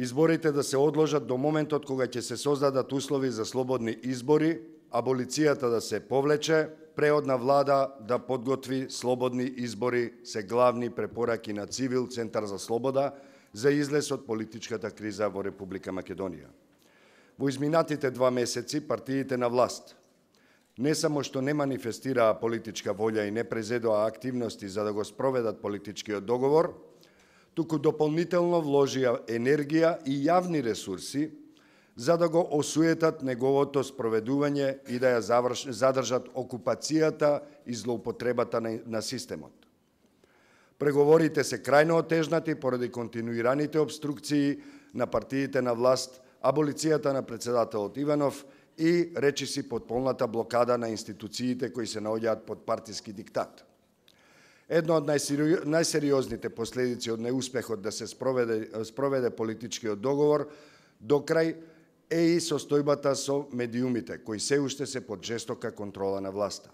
изборите да се одложат до моментот кога ќе се создадат услови за слободни избори, аболицијата да се повлече, преодна влада да подготви слободни избори се главни препораки на Цивил, Центар за слобода, за излез од политичката криза во Република Македонија. Во изминатите 2 месеци партиите на власт не само што не манифестираа политичка волја и не презедоа активности за да го спроведат политичкиот договор, туку дополнително вложија енергија и јавни ресурси за да го осуетат неговото спроведување и да ја задржат окупацијата и злоупотребата на системот. Преговорите се крајно отежнати поради континуираните обструкции на партиите на власт, аболицијата на председателот Иванов и речиси потполната блокада на институциите кои се наоѓаат под партиски диктат. Едно од најсериозните последици од неуспехот да се спроведе политичкиот договор до крај е и состојбата со медиумите, кои се уште се под жестока контрола на власта.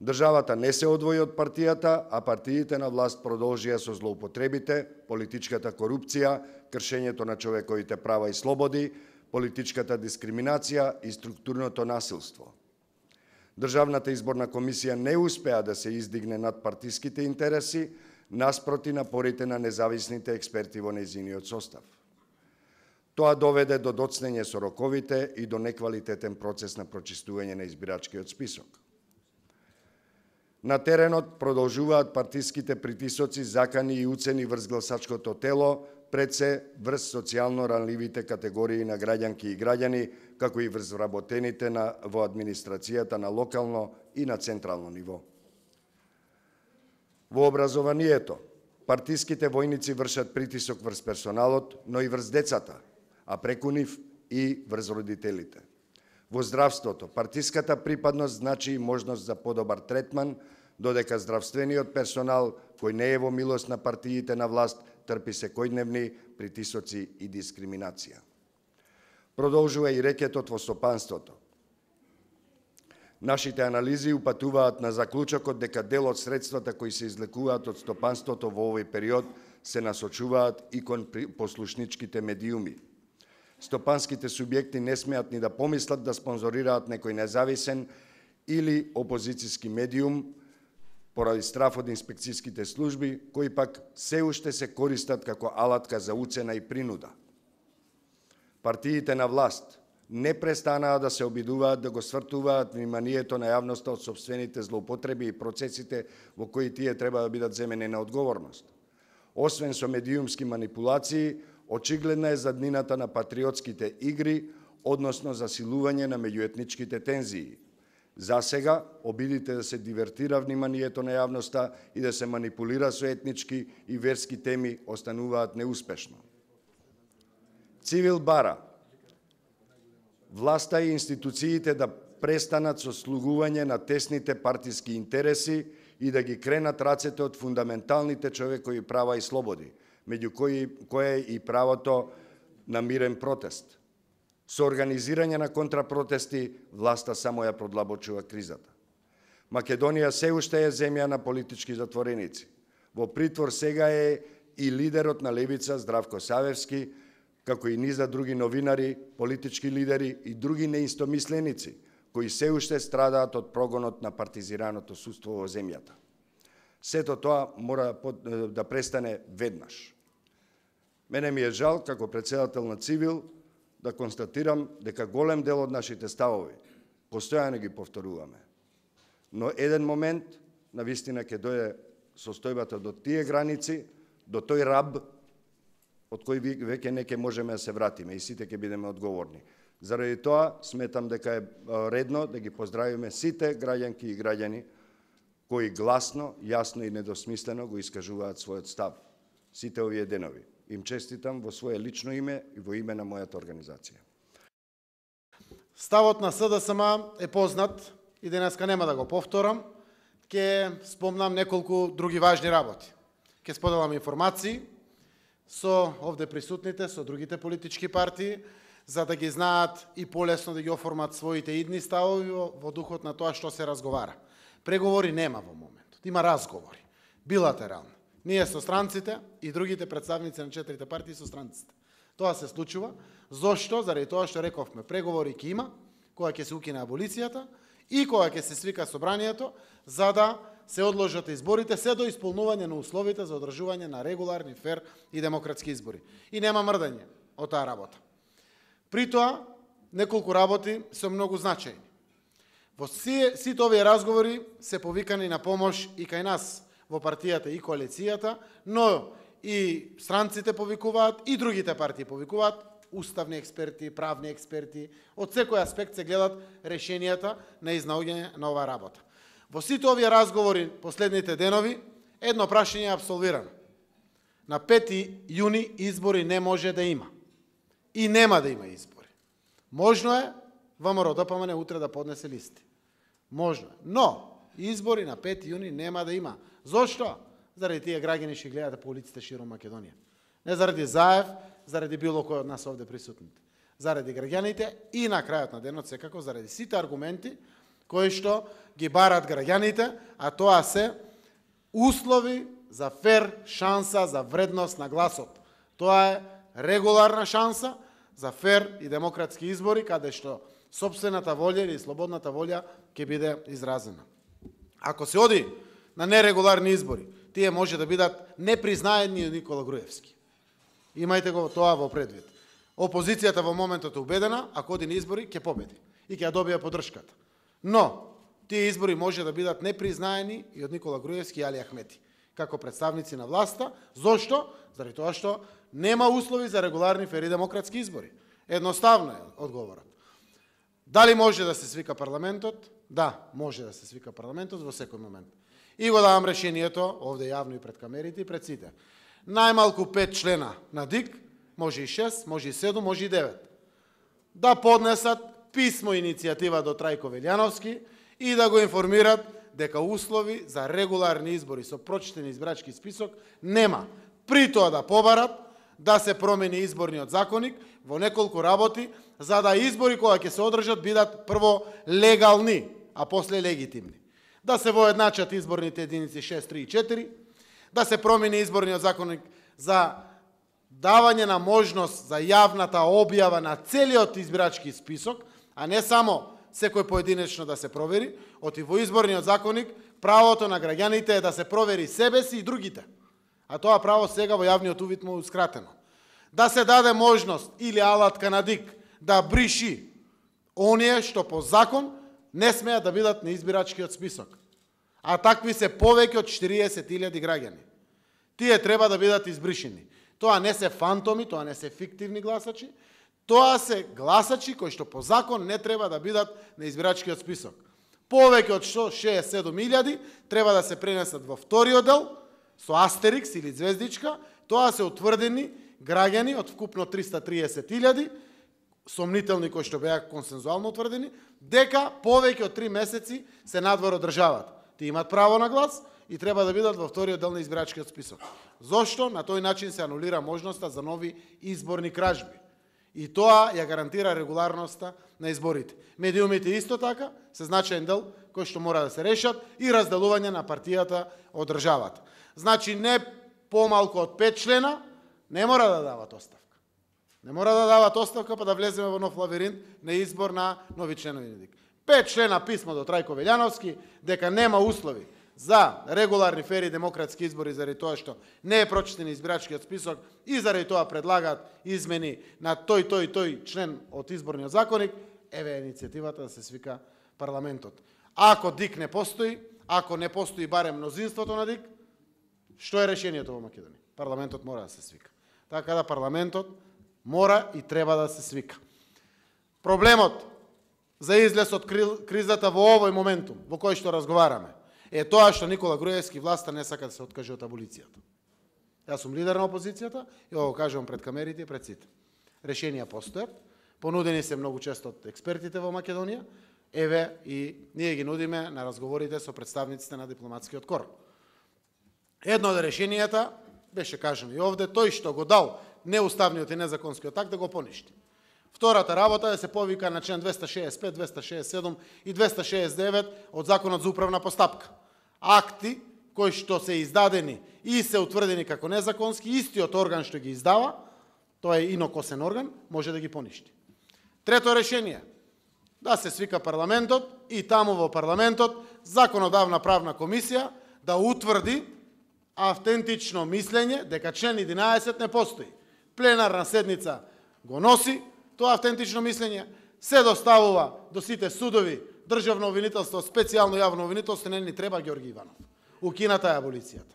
Државата не се одвои од партијата, а партиите на власт продолжија со злоупотребите, политичката корупција, кршењето на човековите права и слободи, политичката дискриминација и структурното насилство. Државната изборна комисија не успеа да се издигне над партиските интереси, наспроти напорите на независните експерти во нејзиниот состав. Тоа доведе до доцнење со роковите и до неквалитетен процес на прочистување на избирачкиот список. На теренот продолжуваат партиските притисоци, закани и уцени врз гласачкото тело, пред се врз социјално ранливите категории на граѓанки и граѓани, како и врз вработените во администрацијата на локално и на централно ниво. Во образованието, партиските војници вршат притисок врз персоналот, но и врз децата, а преку нив и врз родителите. Во здравството, партиската припадност значи и можност за подобар третман, додека здравствениот персонал, кој не е во милост на партиите на власт, трпи секојдневни притисоци и дискриминација. Продолжува и рекетот во стопанството. Нашите анализи упатуваат на заклучокот дека дел од средствата кои се излекуваат од стопанството во овој период се насочуваат и кон послушничките медиуми. Стопанските субјекти не смеат ни да помислат да спонзорираат некој независен или опозицијски медиум поради страф од инспекцијските служби, кои пак се уште се користат како алатка за уцена и принуда. Партиите на власт не престанаа да се обидуваат да го свртуваат вниманието на јавноста од сопствените злоупотреби и процесите во кои тие треба да бидат земени на одговорност. Освен со медиумски манипулации, очигледна е заднината на патриотските игри, односно засилување на меѓуетничките тензии. За сега, обидите да се дивертира вниманието на јавноста и да се манипулира со етнички и верски теми остануваат неуспешно. Цивил бара власта и институциите да престанат со слугување на тесните партиски интереси и да ги кренат рацете од фундаменталните човекови права и слободи, меѓу кои е и правото на мирен протест. Со организирање на контрапротести, власта само ја продлабочува кризата. Македонија се уште е земја на политички затвореници. Во притвор сега е и лидерот на левица Здравко Савевски, како и низа други новинари, политички лидери и други неистомисленици, кои се уште страдаат од прогонот на партизираното судство во земјата. Сето тоа мора да престане веднаш. Мене ми е жал, како председател на Цивил, да констатирам дека голем дел од нашите ставови постојано ги повторуваме. Но еден момент, навистина, ќе дојде состојбата до тие граници, до тој раб, од кој веќе не ќе можеме да се вратиме и сите ќе бидеме одговорни. Заради тоа, сметам дека е редно да ги поздравиме сите граѓанки и граѓани кои гласно, јасно и недосмислено го искажуваат својот став. Сите овие денови. Им честитам во своје лично име и во име на мојата организација. Ставот на СДСМ е познат и денеска нема да го повторам. Ке спомнам неколку други важни работи. Ке споделам информации со овде присутните, со другите политички партии, за да ги знаат и полесно да ги оформат своите идни ставови во духот на тоа што се разговара. Преговори нема во моментот, има разговори, билатерални. Ние со странците и другите представници на четирите партии со странците. Тоа се случува. Зошто? Заради тоа што рековме, преговори ќе има, кога ќе се укине аболицијата и кога ќе се свика собранието, за да се одложат изборите, се до исполнување на условите за одржување на регуларни, фер и демократски избори. И нема мрдање од таа работа. При тоа, неколку работи се многу значајни. Во сите овие разговори се повикани на помош и кај нас во партијата и коалицијата, но и странците повикуваат, и другите партии повикуваат, уставни експерти, правни експерти, од секој аспект се гледат решенијата на изнаоѓање на оваа работа. Во сите овие разговори последните денови, едно прашање е апсолвирано. На 5 јуни избори не може да има. И нема да има избори. Можно е ВМРО-ДПМН утре да поднесе листи. Можно е. Но избори на 5 јуни нема да има. Зошто? Заради тие граѓани што гледаат по улиците широм Македонија. Не заради Заев, заради било кој од нас овде присутните. Заради граѓаните и на крајот на денот секако заради сите аргументи кои што ги барат граѓаните, а тоа се услови за фер шанса за вредност на гласот. Тоа е регуларна шанса за фер и демократски избори, каде што сопствената волја или слободната волја ќе биде изразена. Ако се оди на нерегуларни избори, тие може да бидат непризнаени од Никола Груевски. Имајте го тоа во предвид. Опозицијата во моментот е убедена, ако оди на избори, ќе победи и ќе ја добие поддршката. Но, тие избори може да бидат непризнаени и од Никола Груевски и Али Ахмети, како представници на власта. Зошто? Заради тоа што нема услови за регуларни, фер и демократски избори. Едноставно е одговорот. Дали може да се свика парламентот? Да, може да се свика парламентот во секој момент. И го давам решението, овде јавно и пред камерите и пред сите. Најмалку 5 члена на ДИК, може и 6, може и 7, може и 9, да поднесат писмо иницијатива до Трајко Велјановски и да го информират дека услови за регуларни избори со прочитен избирачки список нема. При тоа да побарат да се промени изборниот законник во неколку работи, за да избори кога ќе се одржат бидат прво легални, а после легитимни. Да се воедначат изборните единици 6, 3 и 4, да се промени изборниот законник за давање на можност за јавната објава на целиот избирачки список, а не само секој поединечно да се провери, оти во изборниот законник правото на граѓаните е да се провери себе си и другите. А тоа право сега во јавниот увид му еускратено. Да се даде можност или алатка на ДИК да бриши оние што по закон не смеат да бидат на избирачкиот список. А такви се повеќе од 40.000 граѓани. Тие треба да бидат избришени. Тоа не се фантоми, тоа не се фиктивни гласачи, тоа се гласачи кои што по закон не треба да бидат на избирачкиот список. Повеќе од 67.000 треба да се пренесат во вториот дел, со астерикс или звездичка, тоа се утврдени граѓани од вкупно 330.000, сомнителни кои што беа консензуално утврдени, дека повеќе од 3 месеци се надвор од државата. Тие имат право на глас и треба да бидат во вториот дел на избирачкиот список. Зошто? На тој начин се анулира можноста за нови изборни кражби. И тоа ја гарантира регуларноста на изборите. Медиумите исто така се значаен дел кој што мора да се решат и разделување на партијата од државата. Значи не помалку од 5 члена не мора да дават оставка. Не мора да дават оставка па да влеземе во нов лавиринт на избор на нови членови на ДИК. 5 члена писмо до Трајко Велјановски дека нема услови за регуларни, фери и демократски избори заради тоа што не е прочитен избирачкиот список и заради тоа предлагаат измени на тој член од изборниот законник, еве иницијативата да се свика парламентот. Ако ДИК не постои, ако не постои барем мнозинството на ДИК, што е решението во Македонија? Парламентот мора да се свика. Така да парламентот мора и треба да се свика. Проблемот за излез од кризата во овој моментум, во кој што разговараме, е тоа што Никола Груевски власта не сака да се откаже од аболицијата. Јас сум лидер на опозицијата и ово кажувам пред камерите и пред сите. Решенија постојат, понудени се многу често од експертите во Македонија, еве и ние ги нудиме на разговорите со представниците на дипломатскиот кор. Едно од решенијата беше кажано и овде, тој што го дал неуставниот и незаконскиот акт да го поништи. Втората работа е да се повика на член 265, 267 и 269 од Законот за управна постапка. Акти кои што се издадени и се утврдени како незаконски, истиот орган што ги издава, Тоа е инокосен орган, може да ги поништи. Трето решение, да се свика парламентот и таму во парламентот законодавна правна комисија да утврди автентично мислење дека член 11 не постои. Пленарна седница го носи тоа автентично мислење, се доставува до сите судови, државно обвинителство, специјално јавно обвинителство, не ни треба Ѓорги Иванов. Укината е аболицијата.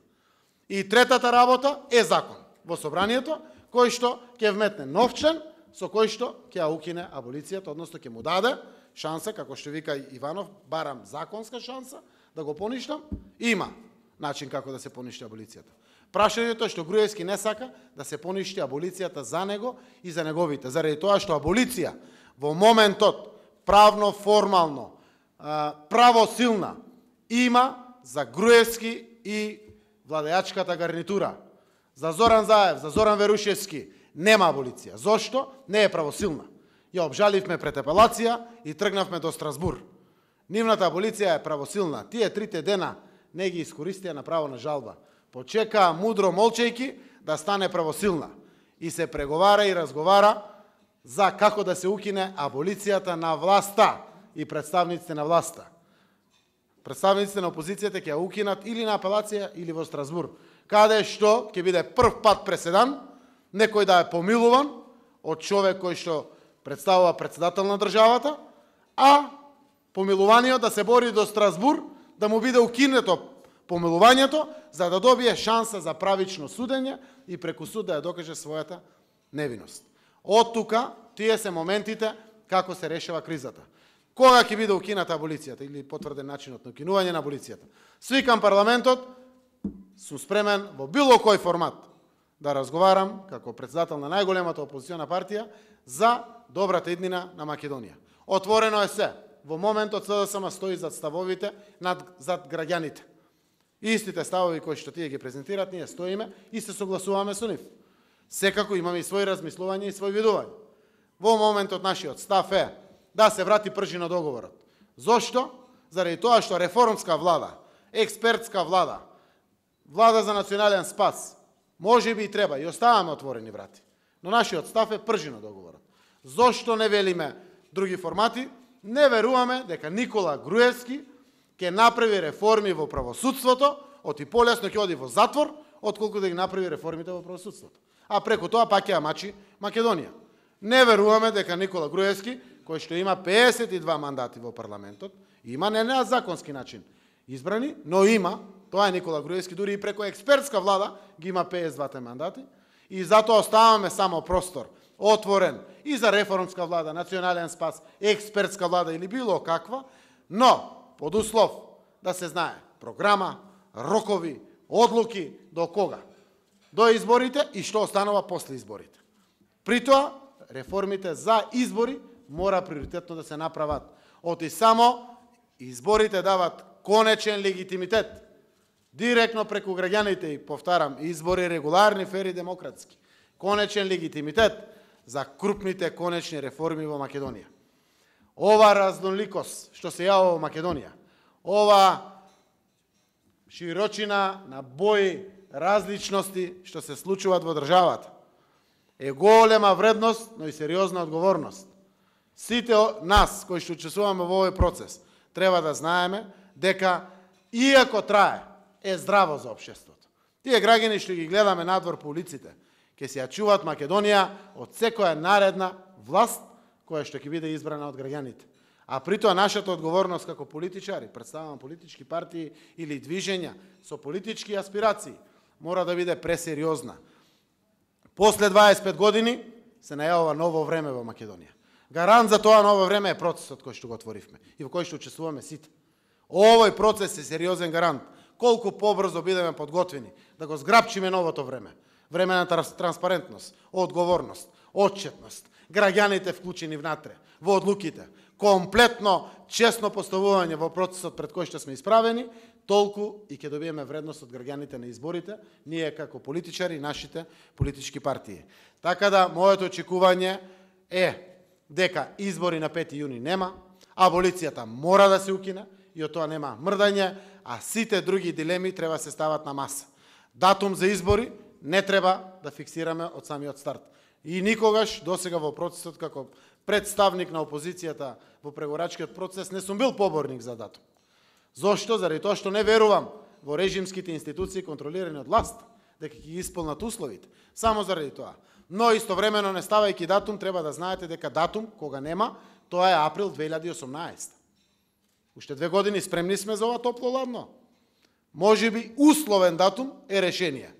И третата работа е закон во собранието, кој што ќе вметне нов член, со кој што ќе ја укине аболицијата, односно ќе му даде шанса, како што вика Иванов, барам законска шанса, да го поништам, има начин како да се поништи аболицијата. Прашањето е што Груевски не сака да се поништи аболицијата за него и за неговите, заради тоа што аболиција во моментот правно, формално, правосилна има за Груевски и владеачката гарнитура. За Зоран Заев, за Зоран Верушевски нема аболиција. Зошто? Не е правосилна. Ја обжаливме пред апелација и тргнавме до Страсбур. Нивната аболиција е правосилна. Тие 3 дена не ги искористија на право на жалба. Почекаа мудро молчејки да стане правосилна. И се преговара и разговара за како да се укине аболицијата на власта и представниците на власта. Представниците на опозицијата ќе ја укинат или на апелација или во Страсбур, каде што ќе биде прв пат преседан некој да е помилуван од човек кој што представува председател на државата, а помилуваниот да се бори до Страсбур, да му биде укинето помилувањето, за да добие шанса за правично судење и преку суд да ја докаже својата невиност. Од тука, тие се моментите како се решава кризата. Кога ќе биде укината аболицијата или потврден начинот на укинување на аболицијата? Свикам парламентот, сум спремен во било кој формат да разговарам како председател на најголемата опозициона партија за добрата иднина на Македонија. Отворено е се. Во моментот СДСМ стои зад ставовите зад граѓаните. Истите ставови кои што тие ги презентират, ние стоиме и се согласуваме со нив. Секако имаме и своји размислувања и свој видување. Во моментот нашиот став е да се врати пржина договорот. Зошто? Заради тоа што реформска влада, експертска влада, влада за национален спас, може би и треба, и оставаме отворени врати. Но нашиот став е пржина договорот. Зошто не велиме други формати? Не веруваме дека Никола Груевски ќе направи реформи во правосудството, оти полесно ќе оди во затвор, отколку да ги направи реформите во правосудството. А преку тоа пак ќе ја мачи Македонија. Не веруваме дека Никола Груевски, кој што има 52 мандати во парламентот, има не на законски начин избрани, но има, тоа е Никола Груевски, дури и преку експертска влада ги има 52 мандати, и затоа оставаме само простор отворен и за реформска влада, национален спас, експертска влада или било каква, но под услов да се знае програма, рокови, одлуки, до кога? До изборите и што останува после изборите. При тоа, реформите за избори мора приоритетно да се направат. Оти само изборите дават конечен легитимитет. Директно преку граѓаните, и повтарам, избори регуларни, фери, демократски. Конечен легитимитет за крупните конечни реформи во Македонија. Ова разноликост што се јавува во Македонија, ова широчина на бои, различности што се случуваат во државата, е голема вредност, но и сериозна одговорност. Сите нас кои што учествуваме во овој процес треба да знаеме дека иако трае, е здраво за општеството. Тие граѓани што ги гледаме надвор по улиците, ќе се ја чуваат Македонија од секоја наредна власт која што ќе биде избрана од граѓаните. А при тоа нашата одговорност како политичари, представувам политички партии или движења со политички аспирации, мора да биде пресериозна. После 25 години се најавува ново време во Македонија. Гарант за тоа ново време е процесот кој што го отворивме и во кој што учествуваме сите. Овој процес е сериозен гарант. Колку побрзо бидеме подготвени да го зграпчиме новото време. Време на транспарентност, одговорност, отчетност, граѓаните вклучени внатре, во одлуките, комплетно честно поставување во процесот пред кој што сме исправени, толку и ќе добиеме вредност од граѓаните на изборите, ние како политичари и нашите политички партии. Така да, моето очекување е дека избори на 5 јуни нема, аболицијата мора да се укине и од тоа нема мрдање, а сите други дилеми треба се стават на маса. Датум за избори не треба да фиксираме од самиот старт. И никогаш досега во процесот како представник на опозицијата во преговорачкиот процес не сум бил поборник за датум. Зошто? Заради тоа што не верувам во режимските институции контролирани од власт, дека ќе ги исполнат условите. Само заради тоа. Но истовремено не ставајќи датум, треба да знаете дека датум, кога нема, тоа е април 2018. Уште 2 години спремни сме за ова топло-ладно. Можеби условен датум е решение.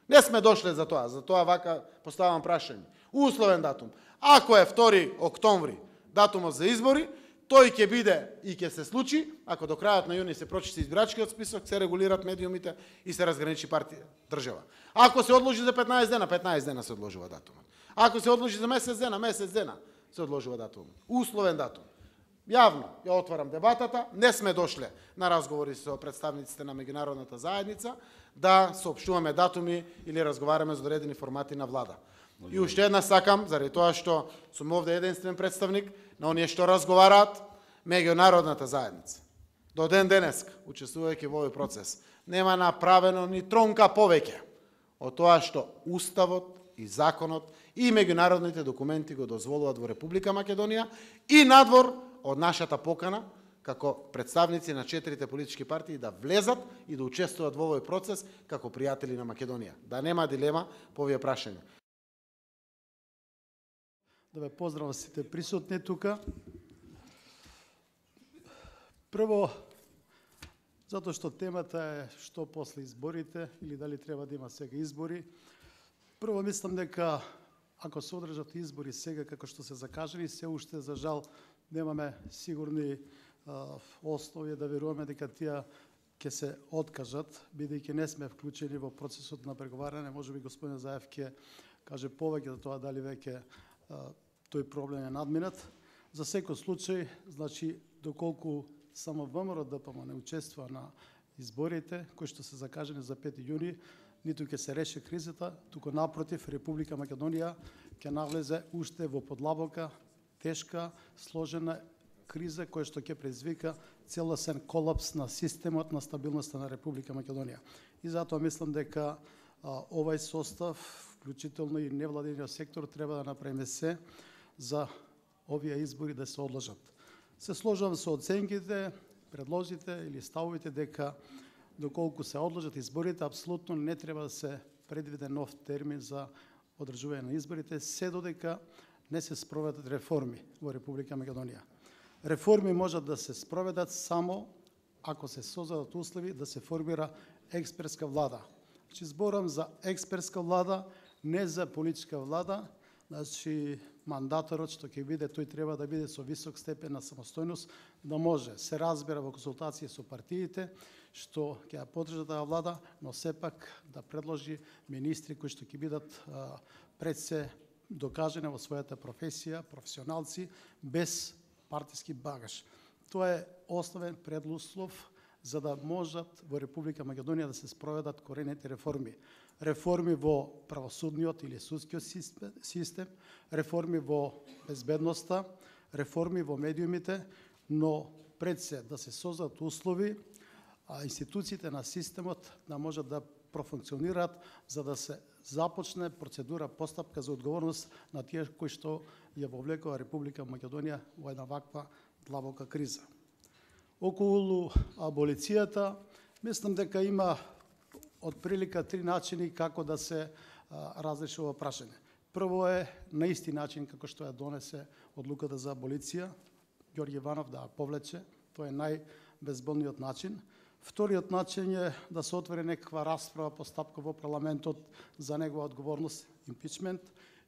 Не сме дошле за тоа вака поставам прашање. Условен датум. Ако е 2 октомври датумот за избори, тој ќе биде и ќе се случи, ако до крајот на јуни се прочисти избирачкиот список, се регулират медиумите и се разграничи партија држава. Ако се одложи за 15 дена, 15 дена се одложува датумот. Ако се одложи за месец дена се одложува датумот. Условен датум. Јавно ја отварам дебатата, не сме дошле на разговори со представниците на меѓународната заедница да соопштуваме датуми или разговараме за одредени формати на влада. И уште една сакам, заради тоа што сум овде единствен представник на оние што разговараат меѓународната заедница. До ден денеска, учествувајќи во овој процес, нема направено ни тронка повеќе од тоа што Уставот и законот и меѓународните документи го дозволуваат во Република Македонија и надвор од нашата покана како представници на 4 политички партии да влезат и да учествуваат во овој процес како пријатели на Македонија. Да нема дилема по овие прашања. Да ве поздравам сите присутни тука. Прво, затоа што темата е што после изборите или дали треба да има сега избори. Прво мислам дека ако се одржат избори сега како што се закажани, се уште за жал немаме сигурни основи да веруваме дека тие ќе се откажат, бидејќи не сме вклучени во процесот на преговарање. Можеби господин Заев ќе каже повеќе за тоа дали веќе тој проблем е надминат. За секој случај, значи, доколку само ВМРО ДПМ не учествува на изборите, кои што се закажани за 5 јуни, ниту ќе се реши кризата, туку напротив, Република Македонија ќе навлезе уште во подлабока, тешка, сложена криза која што ќе предизвика целосен колапс на системот на стабилноста на Република Македонија. И затоа мислам дека овај состав, вклучително и невладениот сектор, треба да направиме се за овие избори да се одложат. Се сложувам со оценките, предложите или ставовите дека доколку се одложат изборите, апсолутно не треба да се предвиде нов термин за одржување на изборите, се додека не се спроведат реформи во Република Македонија. Реформи можат да се спроведат само ако се создадат услови да се формира експертска влада. Значи, зборам за експертска влада, не за политичка влада. Значи, мандаторот што ќе биде, тој треба да биде со висок степен на самостојност, да може се разбира во консултација со партиите, што ќе ја поддржат таа влада, но сепак да предложи министри кои што ќе бидат пред се докажани во својата професија, професионалци, без партиски багаж. Тоа е основен предуслов за да можат во Република Македонија да се спроведат корените реформи. Реформи во правосудниот или судскиот систем, реформи во безбедноста, реформи во медиумите, но пред се да се создадат услови, институциите на системот да можат да профункционираат за да се започне процедура, постапка за одговорност на тие кои што ја вовлекува Република Македонија во една ваква длабока криза. Околу аболицијата, мислам дека има отприлика 3 начини како да се разреши ова прашање. Прво е на исти начин како што ја донесе одлуката за аболиција, Ѓорѓе Иванов да ја повлече, тоа е најбезболниот начин. Вториот начин е да се отвори некаква расправа, постапка во парламентот за негова одговорност, импичмент,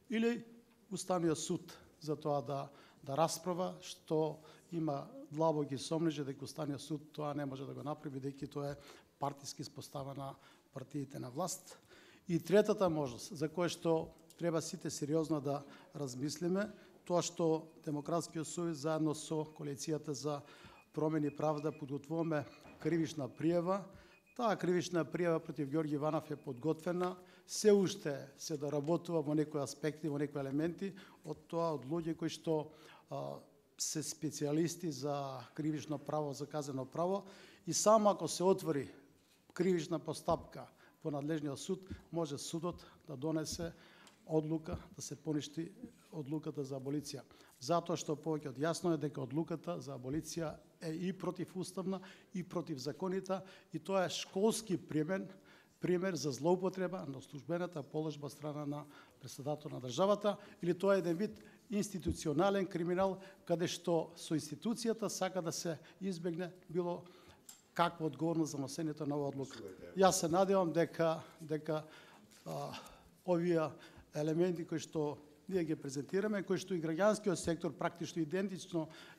или Уставниот суд за тоа да расправа, што има длабоки сомнежи дека Уставниот суд тоа не може да го направи, бидејќи тоа е партиски спостава на партиите на власт. И третата можност, за која што треба сите сериозно да размислиме, тоа што Демократскиот сојуз заедно со коалицијата за промени и правда подготвуваме кривична пријава. Таа кривична пријава против Ѓорѓе Иванов е подготвена, се уште се доработува во некои аспекти, во некои елементи од тоа од луѓе кои што се специјалисти за кривично право, за казено право, и само ако се отвори кривична постапка во надлежниот суд, може судот да донесе одлука да се поништи одлуката за аболиција. Затоа што повеќе од јасно е дека одлуката за аболиција е и противуставна и противзаконита, и тоа е школски пример за злоупотреба на службената положба страна на председател на државата, или тоа е еден вид институционален криминал, каде што со институцијата сака да се избегне било каква одговорност за носењето на оваа одлука. Јас се надевам дека овие елементи кои што ние ги презентираме, кои што и граѓанскиот сектор практично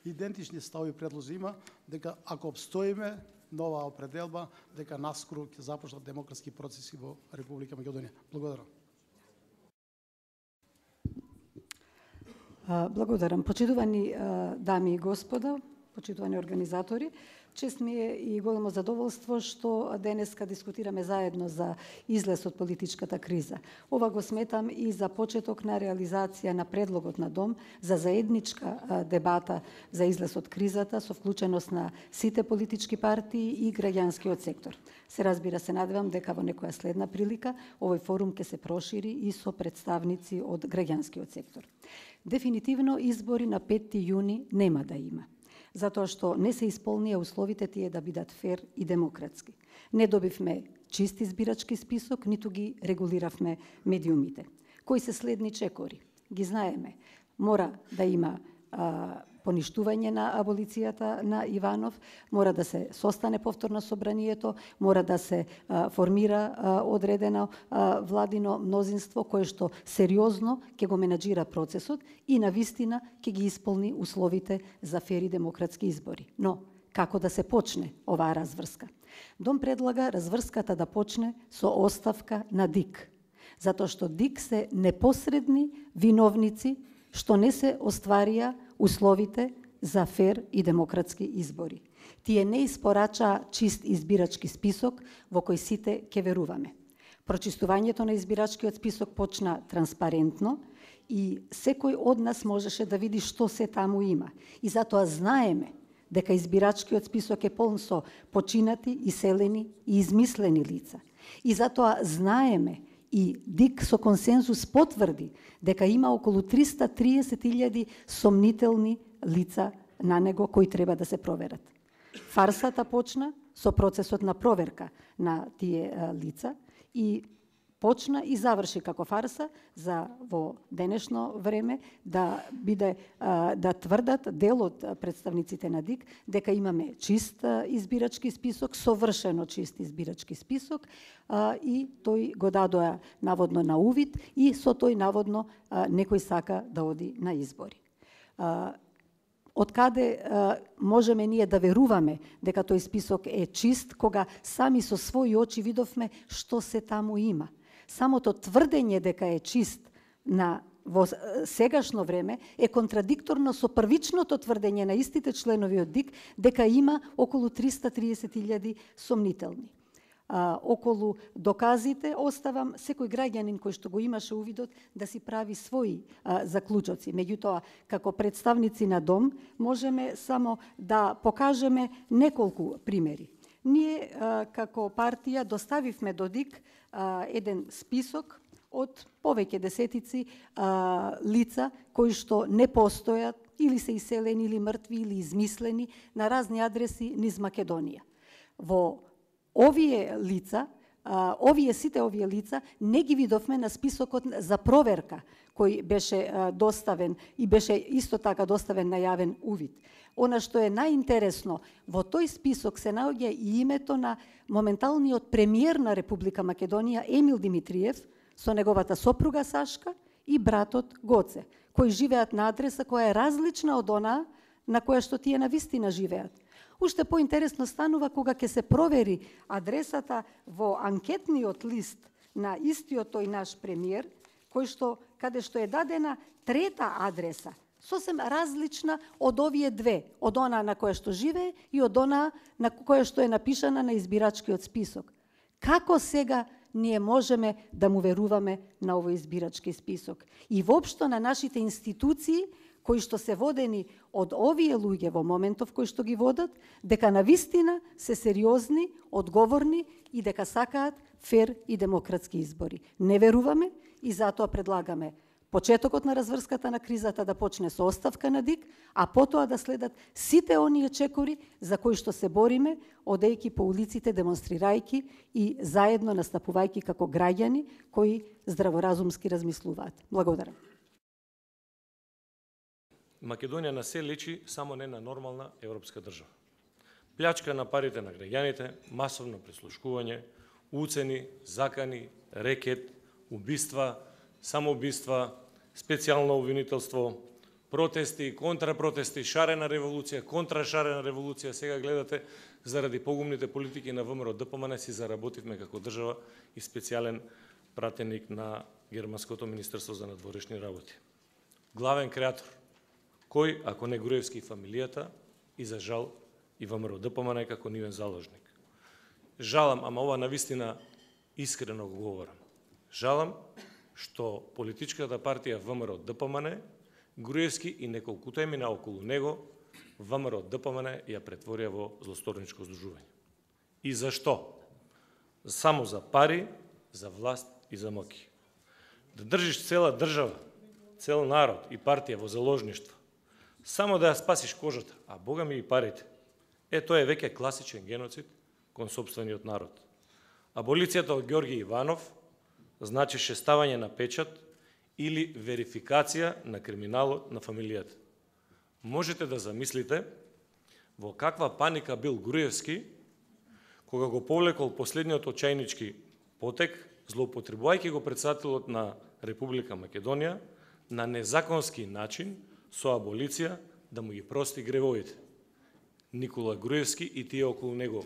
идентични стави предлози има, дека ако обстоиме нова определба, дека наскоро ќе започнат демократски процеси во Република Македонија. Благодарам. Благодарам. Почитувани дами и господа, почитувани организатори, чест ми е и големо задоволство што денеска дискутираме заедно за излез од политичката криза. Ова го сметам и за почеток на реализација на предлогот на Дом за заедничка дебата за излез од кризата со вклученост на сите политички партии и граѓанскиот сектор. Се разбира, се надевам дека во некоја следна прилика овој форум ќе се прошири и со представници од граѓанскиот сектор. Дефинитивно избори на 5 јуни нема да има, затоа што не се исполнија условите тие да бидат фер и демократски. Не добивме чист избирачки список, ниту ги регулиравме медиумите. Кои се следни чекори? Ги знаеме. Мора да има поништување на аболицијата на Иванов, мора да се состане повторно собранието, мора да се формира одредено владино мнозинство кое што сериозно ќе го менаџира процесот и на вистина ќе ги исполни условите за фери демократски избори. Но како да се почне оваа разврска? Дом предлага разврската да почне со оставка на ДИК, затоа што ДИК се непосредни виновници што не се остварија условите за фер и демократски избори. Тие не испорачаа чист избирачки список во кој сите ќе веруваме. Прочистувањето на избирачкиот список почна транспарентно и секој од нас можеше да види што се таму има. И затоа знаеме дека избирачкиот список е полн со починати, иселени и измислени лица. И затоа знаеме и ДИК со консензус потврди дека има околу 330.000 сомнителни лица на него кои треба да се проверат. Фарсата почна со процесот на проверка на тие лица и почна и заврши како фарса за во денешно време да биде да тврдат дел од представниците на ДИК дека имаме чист избирачки список, совршено чист избирачки список и тој го дадоа наводно на увид и со тој наводно некој сака да оди на избори. Од каде можеме ние да веруваме дека тој список е чист, кога сами со своји очи видовме што се таму има? Самото тврдење дека е чист во сегашно време е контрадикторно со првичното тврдење на истите членови од ДИК дека има околу 330.000 сомнителни. Околу доказите оставам секој граѓанин кој што го имаше увидот да си прави своји заклучоци. Меѓутоа, како представници на Дом, можеме само да покажеме неколку примери. Ние како партија доставивме до ДИК еден список од повеќе десетици лица кои што не постојат или се иселени или мртви или измислени на разни адреси низ Македонија. Во сите овие лица не ги видовме на списокот за проверка кој беше доставен и беше исто така доставен на јавен увид. Она што е најинтересно, во тој список се наоѓа и името на моменталниот премиер на Република Македонија Емил Димитриев со неговата сопруга Сашка и братот Гоце, кои живеат на адреса која е различна од онаа на која што тие навистина живеат. Уште поинтересно станува кога ќе се провери адресата во анкетниот лист на истиот тој наш премиер, каде што е дадена трета адреса, сосем различна од овие две, од онаа на која што живее и од онаа на која што е напишана на избирачкиот список. Како сега ние можеме да му веруваме на овој избирачки список? И воопшто на нашите институции кои што се водени од овие луѓе во моментов кои што ги водат, дека навистина се сериозни, одговорни и дека сакаат фер и демократски избори. Не веруваме и затоа предлагаме почетокот на разврската на кризата да почне со оставка на ДИК, а потоа да следат сите оние чекори за кои што се бориме, одејќи по улиците, демонстрирајќи и заедно настапувајќи како граѓани кои здраворазумски размислуваат. Благодарам. Македонија не се лечи само не на нормална европска држава. Плячка на парите на граѓаните, масовно прислушкување, уцени, закани, рекет, убиства, самоубиства, специјално обвинителство, протести, контрапротести, шарена револуција, контрашарена револуција. Сега гледате, заради погумните политики на ВМРО ДПМН си заработивме како држава и специјален пратеник на Германското министерство за надворешни работи. Главен креатор. Кој, ако не Груевски и фамилијата, и за жал и ВМРО ДПМН како нивен заложник. Жалам, ама ова навистина искрено го говорам. Жалам што политичката партија ВМРО ДПМН, Груевски и неколкуте мина околу него, ВМРО ДПМН ја претворија во злосторничко здружување. И зашто? Само за пари, за власт и за моки. Да држиш цела држава, цел народ и партија во заложништво, само да ја спасиш кожата, а Бога ми и парите. Тоа е веќе класичен геноцид кон сопствениот народ. Аболицијата од Ѓорги Иванов значеше ставање на печат или верификација на криминалот на фамилијата. Можете да замислите во каква паника бил Груевски кога го повлекол последниот очајнички потек, злоупотребувајќи го претседателот на Република Македонија на незаконски начин со аболиција да му ги прости гревовите. Никола Груевски и тие околу него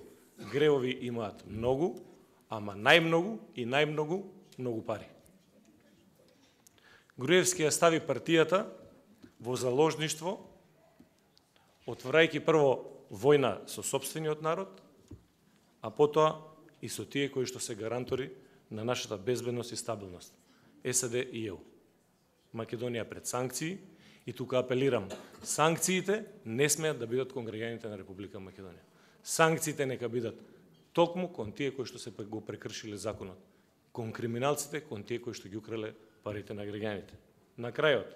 гревови имаат многу, ама најмногу и најмногу многу пари. Груевски ја стави партијата во заложништво, отворајќи прво војна со сопствениот народ, а потоа и со тие кои што се гарантори на нашата безбедност и стабилност. САД и ЕУ. Македонија пред санкции и тука апелирам, санкциите не смеат да бидат кон граѓаните на Република Македонија. Санкциите нека бидат токму кон тие кои што се го прекршиле законот, кон криминалците, кон тие кои што ги украле парите на граѓаните. На крајот,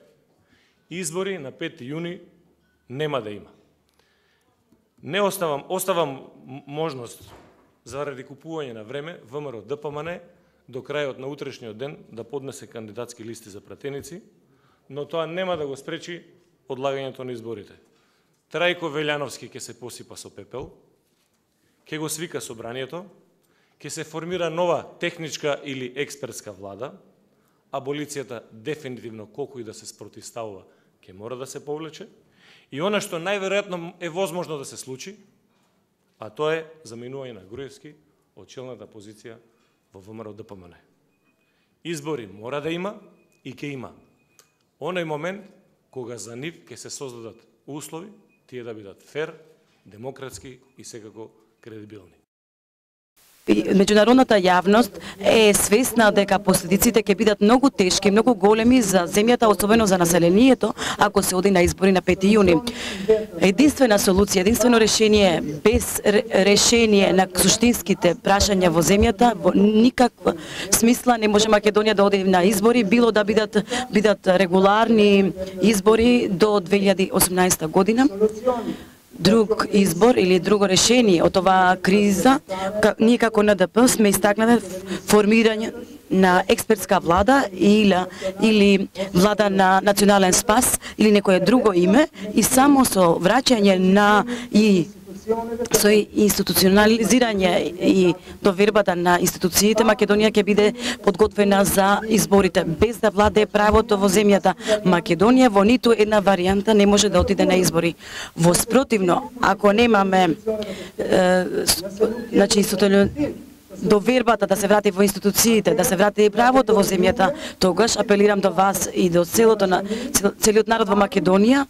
избори на 5 јуни нема да има. Не оставам можност заради купување на време ВМРО ДПМН до крајот на утрешниот ден да поднесе кандидатски листи за пратеници, но тоа нема да го спречи одлагањето на изборите. Трајко Велјановски ќе се посипа со пепел, ќе го свика собранието, ќе се формира нова техничка или експертска влада, аболицијата дефинитивно колку и да се спротивставува, ќе мора да се повлече, и она што најверојатно е возможно да се случи, а тоа е заминување на Груевски од челната позиција во ВМРО ДПМН. Избори мора да има и ќе има. Оној момент кога за нив ќе се создадат услови тие да бидат фер, демократски и секако кредибилни. Меѓународната јавност е свесна дека последиците ќе бидат многу тешки, многу големи за земјата, особено за населението, ако се оди на избори на 5 јуни. Единствена солуција, единствено решение, без решение на суштинските прашања во земјата, во никаква смисла не може Македонија да оди на избори, било да бидат регуларни избори до 2018 година. Друг избор или друго решение од оваа криза, ние како НДП сме истакнале формирање на експертска влада или влада на национален спас или некое друго име и само со враќање на со институционализирање и довербата на институциите, Македонија ќе биде подготвена за изборите, без да владее правото во земјата. Македонија во ниту една варијанта не може да отиде на избори. Во спротивно, ако немаме довербата да се врати во институциите, да се врати и правото во земјата, тогаш апелирам до вас и до целиот народ во Македонија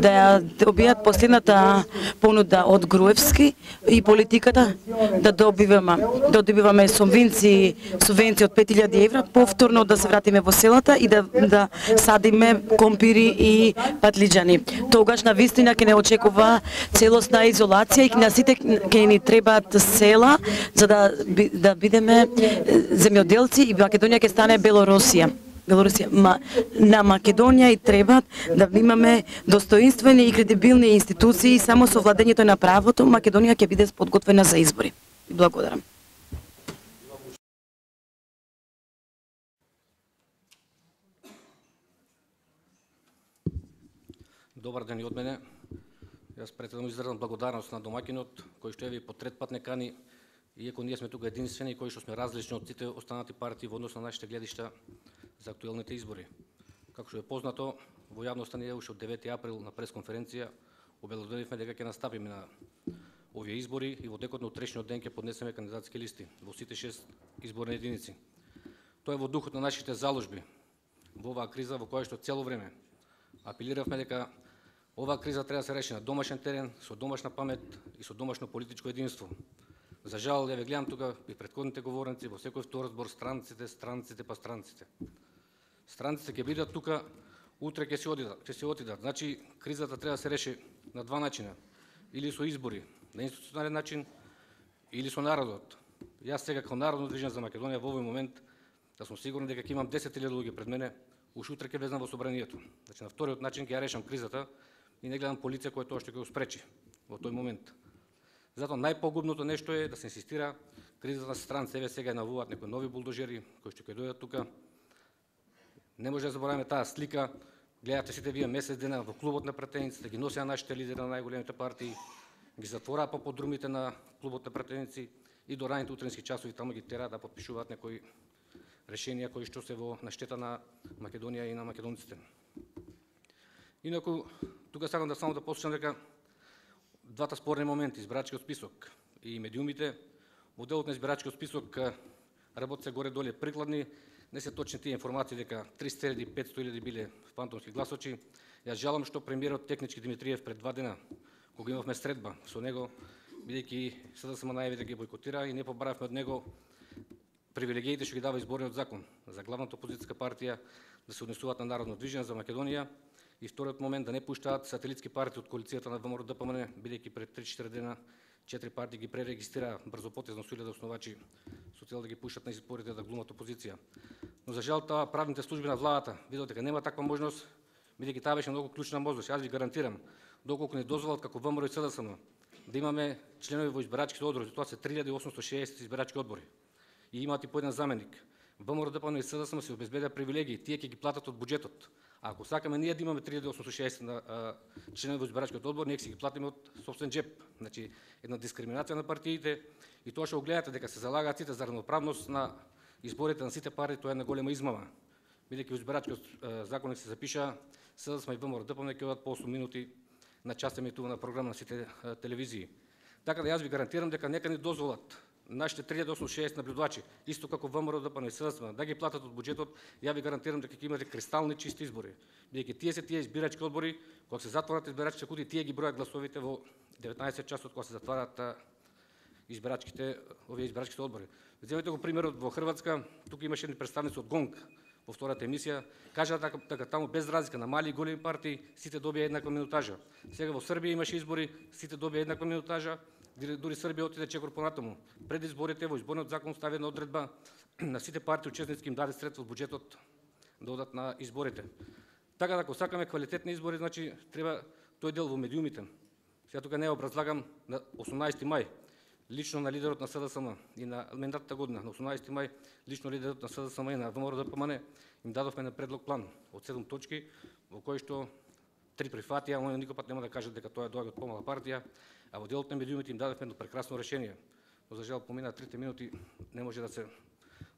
да добијат последната понуда од Груевски и политиката да добиваме субвенции од 5000 евра, повторно да се вратиме во селата и да садиме компири и патлиџани. Тогаш навистина ќе не очекува целосна изолација и на сите ќе ни требаат села за да да бидеме земјоделци и Македонија ќе стане Белорусија. На Македонија и треба да имаме достоинствени и кредибилни институции, само со владењето на правото Македонија ќе биде подготвена за избори. Благодарам. Добар ден и од мене. Јас претедно изразам благодарност на домакинот, кој што е по трет пат не кани, иако ние сме тука единствени, кои што сме различни од сите останати партии во однос на нашите гледишта за актуелните избори. Како што е познато, во јавноста ние уште од 9 април на пресконференција обелоденивме дека ќе настапиме на овие избори и во текот на утрешниот ден ќе поднесеме кандидатски листи во сите 6 изборни единици. Тоа е во духот на нашите заложби во оваа криза во која што цело време апелиравме дека оваа криза треба да се реши на домашен терен, со домашна памет и со домашно политичко единство. За жал, ја ве гледам тука и претходните говорници, во секој втор збор странците. Странците ќе бидат тука, утре ќе се отидат. Значи, кризата треба да се реши на два начина. Или со избори, на институционален начин, или со народот. Јас сега како Народно движење за Македонија во овој момент да сум сигурен дека ќе имам 10.000 луѓе пред мене, уш утре ќе влезам во собранието. Значи, на вториот начин ќе ја решам кризата и не гледам полиција која тоа што ќе го спречи во тој момент. Затоа најпогубното нешто е да се инсистира кризата на странци. Еве сега навуваат некои нови булдожери кои што ќе дојдат тука. Не може да забораваме таа слика. Гледате сите вие месец дена во клубот на пратениците, ги носеа нашите лидери на најголемите партии, ги затвораа по подрумите на клубот на пратеници и до раните утренски часови таму ги тераа да подпишуваат некои решенија кои што се во наштета на Македонија и на македонците. Инаку, тука сакам да само да посочам дека двата спорни моменти, избирачкиот список и медиумите, во делот на избирачкиот список работи се горе-доле прикладни, не се точни тие информации дека 300.000-500.000 биле фантомски гласочи. Јас жалам што премиерот Технички Димитриев пред 2 дена, кога имавме средба со него, бидејќи СДСМ најави да ги бойкотира и не побаравме од него привилегиите што ги дава изборниот закон за главната опозицијска партија да се однесуваат на Народно движење за Македонија. И вториот момент да не пуштаат сателитски партии од коалицијата на ВМРО ДПМН, бидејќи пред 3-4 дена 4 партии ги пререгистрираа брзопотезно со 1000 основачи со цел да ги пуштат на изборите да глумат опозиција. Но за жал таа правните служби на владата видат дека нема таква можност, бидејќи таа беше многу клучна можност. Јас ви гарантирам, доколку не дозволат како ВМРО и СДСМ да имаме членови во избирачките одбори, тоа се 3860 избирачки одбори и имаат и по еден заменик. ВМРО ДПМН и СДСМ се обезбедија привилегии, тие ќе ги платат од буџетот. А ако сакаме ние да имаме 3860 членови во избирачкиот одбор, ние ќе ги платиме од собствен джеп. Значи, една дискриминација на партиите и тоа што го гледате дека се залагаат сите за равноправност на изборите на сите партии, тоа е една голема измама. Бидејќи во избирачкиот законник се запиша СДСМ и ВМРО ДПМН ќе одат по 8 минути на час емитувана програма на сите телевизии. Така да јас ви гарантирам дека нека ни дозволат нашите 3860 наблюдувачи, исто како ВМРО ДПМН и СДСМ, да ги платат од буџетот, ја ви гарантирам дека ќе имате кристални чисти избори. Бидејќи тие се тие избирачки одбори, кога се затворат избирачките кутии, тие ги бројат гласовите во 19 часот кога се затварат овие избирачките одбори. Земете го примерот во Хрватска, тука имаше едни представници од ГОНГ во втората емисија, кажаа дека таму без разлика на мали и големи партии сите добија еднаква минутажа. Сега во Србија имаше избори, сите добија еднаква минутажа. Дури Србија отиде чекор понатаму. Пред изборите во изборниот закон стави една одредба на сите партии учесници им даде средства од буџетот да одат на изборите. Така да ако сакаме квалитетни избори, значи треба тој дел во медиумите. Сега тука не образлагам на 18 мај лично на лидерот на СДСМ и на мандатната година на 18 мај лично лидерот на СДСМ и на ВМРО ДПМН им дадовме на предлог план од 7 точки во кој што 3 прифатија, они никој пат нема да кажат дека тоа доаѓа од помала партија, а во делот на медиумите им дадовме едно прекрасно решение. Но за жал помина 3 минути, не може да се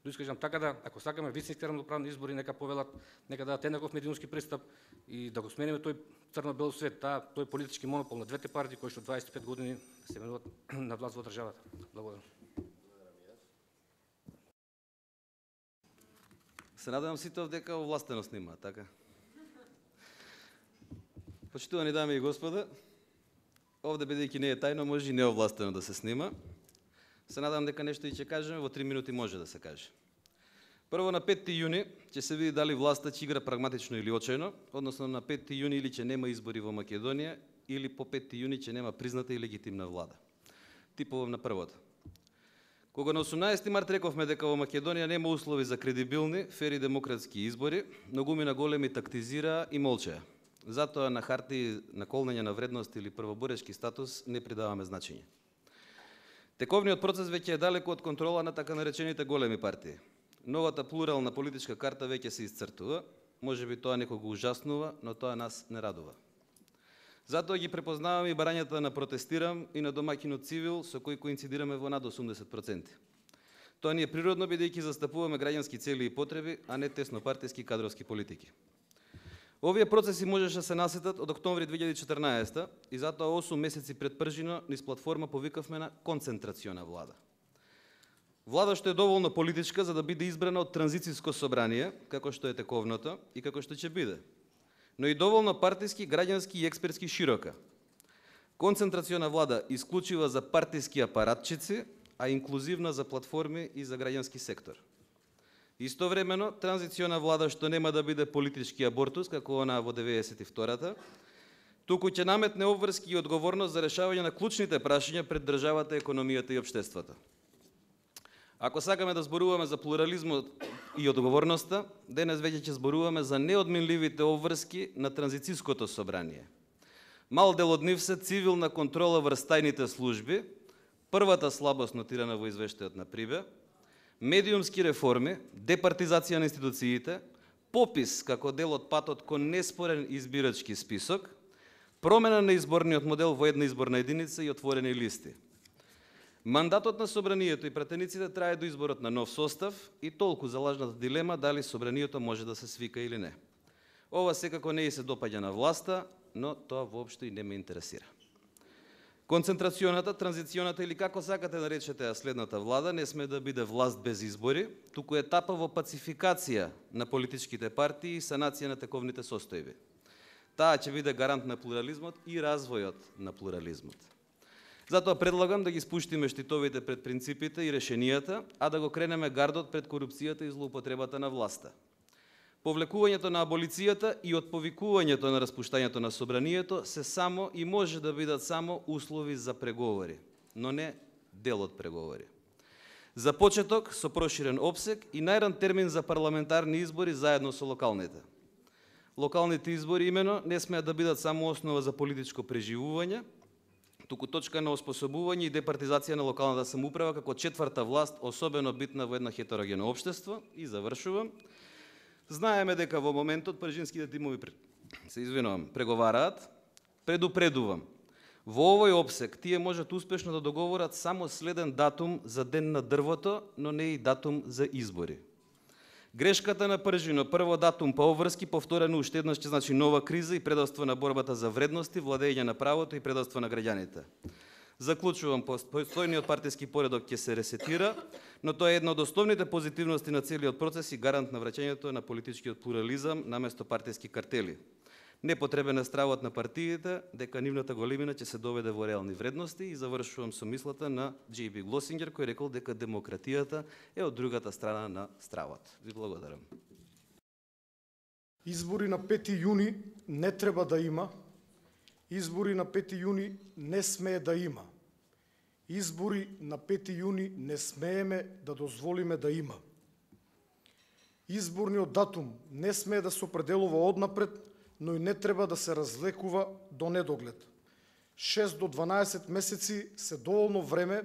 доискажам. Така да, ако сакаме вистински равноправни избори, нека повелат, нека дадат еднаков медиумски пристап и да го смениме тој црно-бел свет, тој политички монопол на двете партии кои што 25 години се менуваат на власт во државата. Благодарам. Се надевам сите дека овластено снима, така? Почитувани дами и господа, овде бидејќи не е тајно, може и неовластено да се снима. Се надам дека нешто и ќе кажеме, во 3 минути може да се каже. Прво, на 5 јуни ќе се види дали власта ќе игра прагматично или очајно, односно на 5 јуни или ќе нема избори во Македонија, или по 5 јуни ќе нема призната и легитимна влада. Типовам на првото. Кога на 18 март рековме дека во Македонија нема услови за кредибилни, фери демократски избори, многумина големи тактизираа и молчеа. Затоа на харти на колнење на вредност или првоборешки статус не придаваме значење. Тековниот процес веќе е далеку од контрола на така наречените големи партии. Новата плурална политичка карта веќе се исцртува, можеби тоа некого ужаснува, но тоа нас не радува. Затоа ги препознавам и барањата на протестирам и на домаќинот цивил со кој коинцидираме во над 80%. Тоа ни е природно бидејќи застапуваме граѓански цели и потреби, а не теснопартиски кадровски политики. Овие процеси можеше се насетат од октомври 2014 и затоа 8 месеци пред пржино низ платформа повикавме на концентрациона влада. Влада што е доволно политичка за да биде избрана од транзициско собрание, како што е тековното и како што ќе биде, но и доволно партиски, граѓански и експертски широка. Концентрациона влада исклучива за партиски апаратчици, а инклузивна за платформи и за граѓански сектор. Истовремено, транзициона влада што нема да биде политички абортус, како она во 92-та, туку ќе наметне обврски и одговорност за решавање на клучните прашања пред државата, економијата и општеството. Ако сакаме да зборуваме за плурализмот и одговорноста, денес веќе ќе зборуваме за неодминливите обврски на транзициското собрание. Мал дел од нив се цивилна контрола врз тајните служби, првата слабост нотирана во извештајот на Прибе, медиумски реформи, департизација на институциите, попис како дел од патот кон неспорен избирачки список, промена на изборниот модел во една изборна единица и отворени листи. Мандатот на собранието и пратениците трае до изборот на нов состав и толку за лажната дилема дали собранието може да се свика или не. Ова секако не и се допаѓа на власта, но тоа воопшто и не ме интересира. Концентрацијоната, транзиционата или како сакате да речете следната влада не сме да биде власт без избори, туку етапа во пацификација на политичките партии и санација на тековните состојби. Таа ќе биде гарант на плурализмот и развојот на плурализмот. Затоа предлагам да ги спуштиме штитовите пред принципите и решенијата, а да го кренеме гардот пред корупцијата и злоупотребата на власта. Повлекувањето на аболицијата и отповикувањето на распуштањето на собранието се само и може да бидат само услови за преговори, но не дел од преговори. За почеток со проширен опсег и најран термин за парламентарни избори заедно со локалните. Локалните избори имено не смеат да бидат само основа за политичко преживување, туку точка на оспособување и департизација на локалната самоуправа како четврта власт, особено битна во едно хетерогено општество. И завршувам. Знаеме дека во моментот пржинските тимови преговараат. Предупредувам. Во овој опсек тие можат успешно да договорат само следен датум за ден на дрвото, но не и датум за избори. Грешката на пржино, прво датум па обврски, повторено уште еднаш ќе значи нова криза и предавство на борбата за вредности, владење на правото и предавство на граѓаните. Заклучувам, постојниот партиски поредок ќе се ресетира, но тоа е една од основните позитивности на целиот процес и гарант на враќањето на политичкиот плурализам наместо партиски картели. Непотребен е стравот на партиите дека нивната големина ќе се доведе во реални вредности и завршувам со мислата на J.B. Глосингер кој рекол дека демократијата е од другата страна на стравот. Ви благодарам. Избори на 5 јуни не треба да има. Избори на 5 јуни не смее да има. Избори на 5 јуни не смееме да дозволиме да има. Изборниот датум не смее да се определува однапред, но и не треба да се разлекува до недоглед. 6 до 12 месеци се доволно време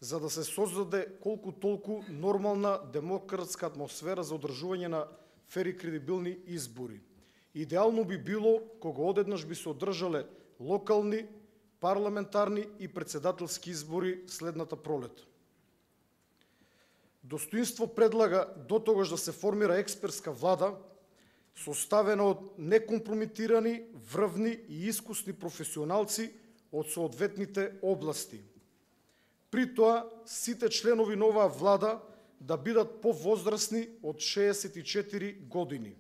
за да се создаде колку толку нормална демократска атмосфера за одржување на фер и кредибилни избори. Идеално би било кога одеднаш би се одржале локални, парламентарни и председателски избори следната пролет. Достоинство предлага до тогаш да се формира експертска влада, составена од некомпромитирани, врвни и искусни професионалци од соодветните области. При тоа, сите членови на оваа влада да бидат повозрастни од 64 години.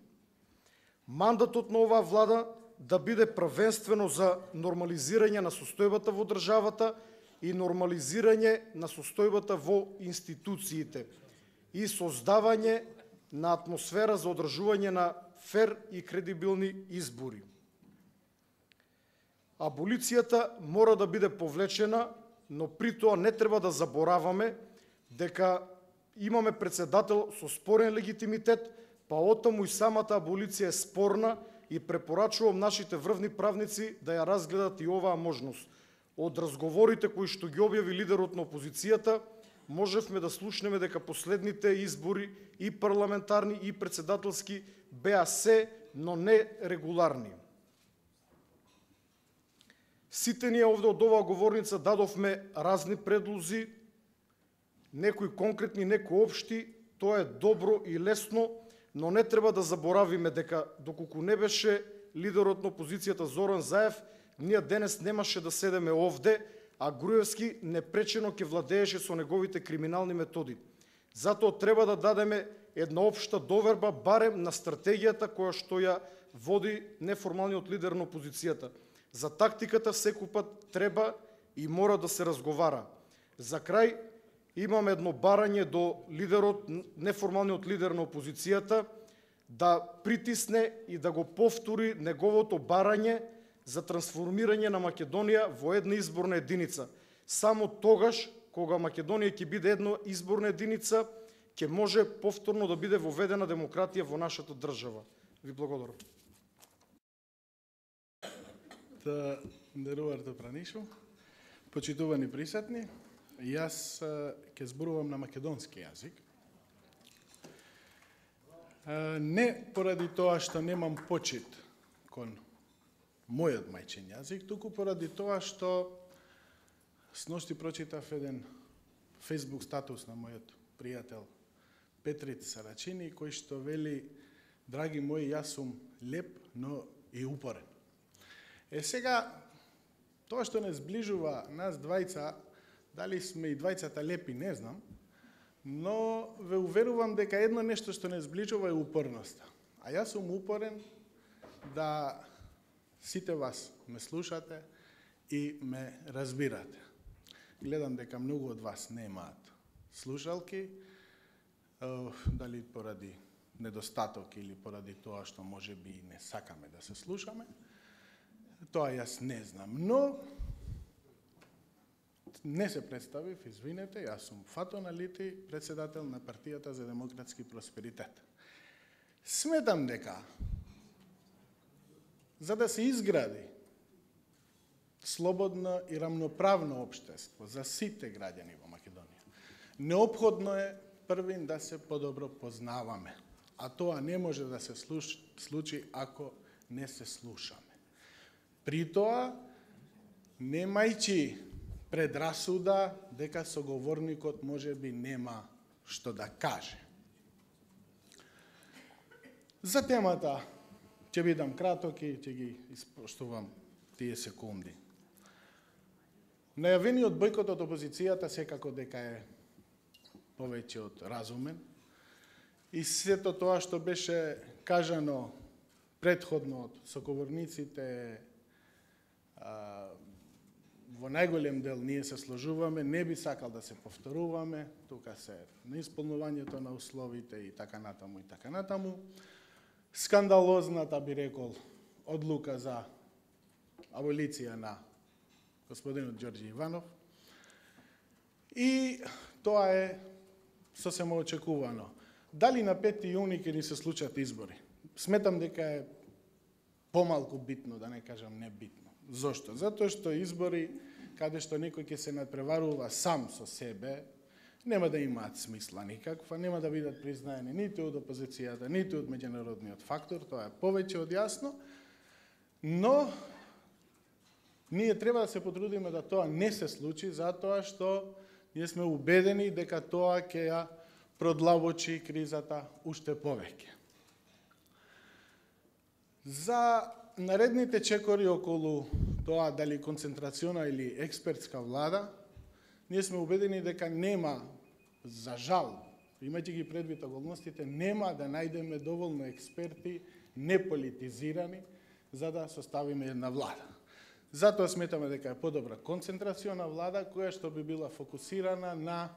Мандатот на оваа влада да биде првенствено за нормализирање на состојбата во државата и нормализирање на состојбата во институциите и создавање на атмосфера за одржување на фер и кредибилни избори. Аболицијата мора да биде повлечена, но при тоа не треба да забораваме дека имаме председател со спорен легитимитет, па оттаму и самата аболиција е спорна и препорачувам нашите врвни правници да ја разгледат и оваа можност. Од разговорите кои што ги објави лидерот на опозицијата, можевме да слушнеме дека последните избори и парламентарни и председателски беа се, но не регуларни. Сите ние овде од оваа говорница дадовме разни предлози, некои конкретни, некои општи, тоа е добро и лесно, но не треба да заборавиме дека доколку не беше лидерот на опозицијата Зоран Заев, ние денес немаше да седеме овде, а Груевски непречено ќе владееше со неговите криминални методи. Затоа треба да дадеме една општа доверба барем на стратегијата која што ја води неформалниот лидер на опозицијата. За тактиката секој пат треба и мора да се разговара. За крај имам едно барање до лидерот, неформалниот лидер на опозицијата, да притисне и да го повтори неговото барање за трансформирање на Македонија во една изборна единица. Само тогаш, кога Македонија ќе биде една изборна единица, ќе може повторно да биде воведена демократија во нашата држава. Ви благодарам. Нерувар Пранишо, почитувани присутни, јас ќе зборувам на македонски јазик. Не поради тоа што немам почит кон мојот мајчин јазик, туку поради тоа што сношти прочитав еден Facebook статус на мојот пријател Петрит Сарачини, кој што вели: драги мои, јас сум леп, но и упорен. Сега, тоа што не зближува нас двајца, дали сме и двајцата лепи, не знам, но ве уверувам дека едно нешто што не зближува е упорноста. А јас сум упорен да сите вас ме слушате и ме разбирате. Гледам дека многу од вас немаат слушалки, дали поради недостаток или поради тоа што можеби не сакаме да се слушаме. Тоа јас не знам, но не се представив, извинете, јас сум Фато Налити, председател на Партијата за демократски просперитет. Сметам дека за да се изгради слободно и рамноправно општество за сите граѓани во Македонија, неопходно е првин да се подобро познаваме, а тоа не може да се случи ако не се слушаме. При тоа, немајќи предрасуда дека соговорникот можеби нема што да каже. За темата ќе бидам краток и ќе ги испоштувам тие секунди. Најавениот бојкот од опозицијата секако дека е повеќе од разумен и сето тоа што беше кажано претходно од соговорниците, во најголем дел ние се сложуваме, не би сакал да се повторуваме, тука се на исполнувањето на условите и така натаму и така натаму. Скандалозната, би рекол, одлука за аболиција на господинот Ѓорѓи Иванов. И тоа е сосема очекувано. Дали на 5 јуни ќе ни се случат избори? Сметам дека е помалку битно, да не кажам небитно. Зошто? Затоа што избори, каде што некој ќе се надпреварува сам со себе, нема да имаат смисла никаква, нема да бидат признаени ниту од опозицијата, ниту од меѓународниот фактор, тоа е повеќе од јасно, но ние треба да се потрудиме да тоа не се случи, затоа што ние сме убедени дека тоа ќе ја продлабочи кризата уште повеќе. За наредните чекори околу тоа дали концентрациона или експертска влада, ние сме убедени дека нема, за жал, имајќи ги предвид околностите, нема да најдеме доволно експерти, неполитизирани, за да составиме една влада. Затоа сметаме дека е подобра концентрациона влада, која што би била фокусирана на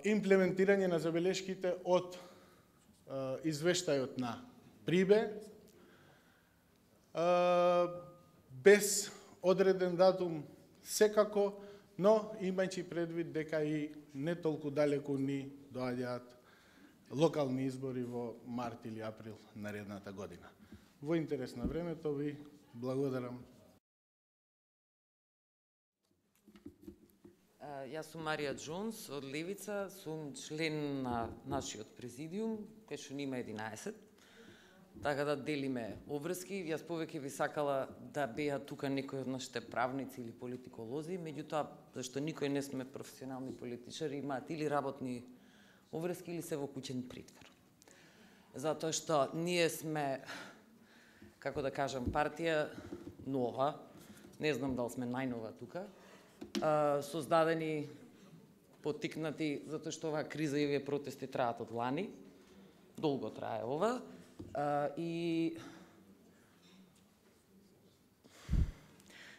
имплементирање на забелешките од извештајот на Прибе, без одреден датум секако, но имајќи предвид дека и не толку далеку ни доаѓаат локални избори во март или април наредната година. Во интерес на времето ви благодарам. Јас сум Марија Джонс од Левица, сум член на нашиот президиум, кај што нима 11. Така да делиме обврски. Јас повеќе би сакала да беа тука некои од нашите правници или политиколози, меѓутоа, зашто никој не сме професионални политичари, имаат или работни обврски или се во куќен притвор. Затоа што ние сме, како да кажам, партија нова, не знам дали сме најнова тука, создадени, потикнати, затоа што оваа криза и овие протести траат од лани, долго трае ова, и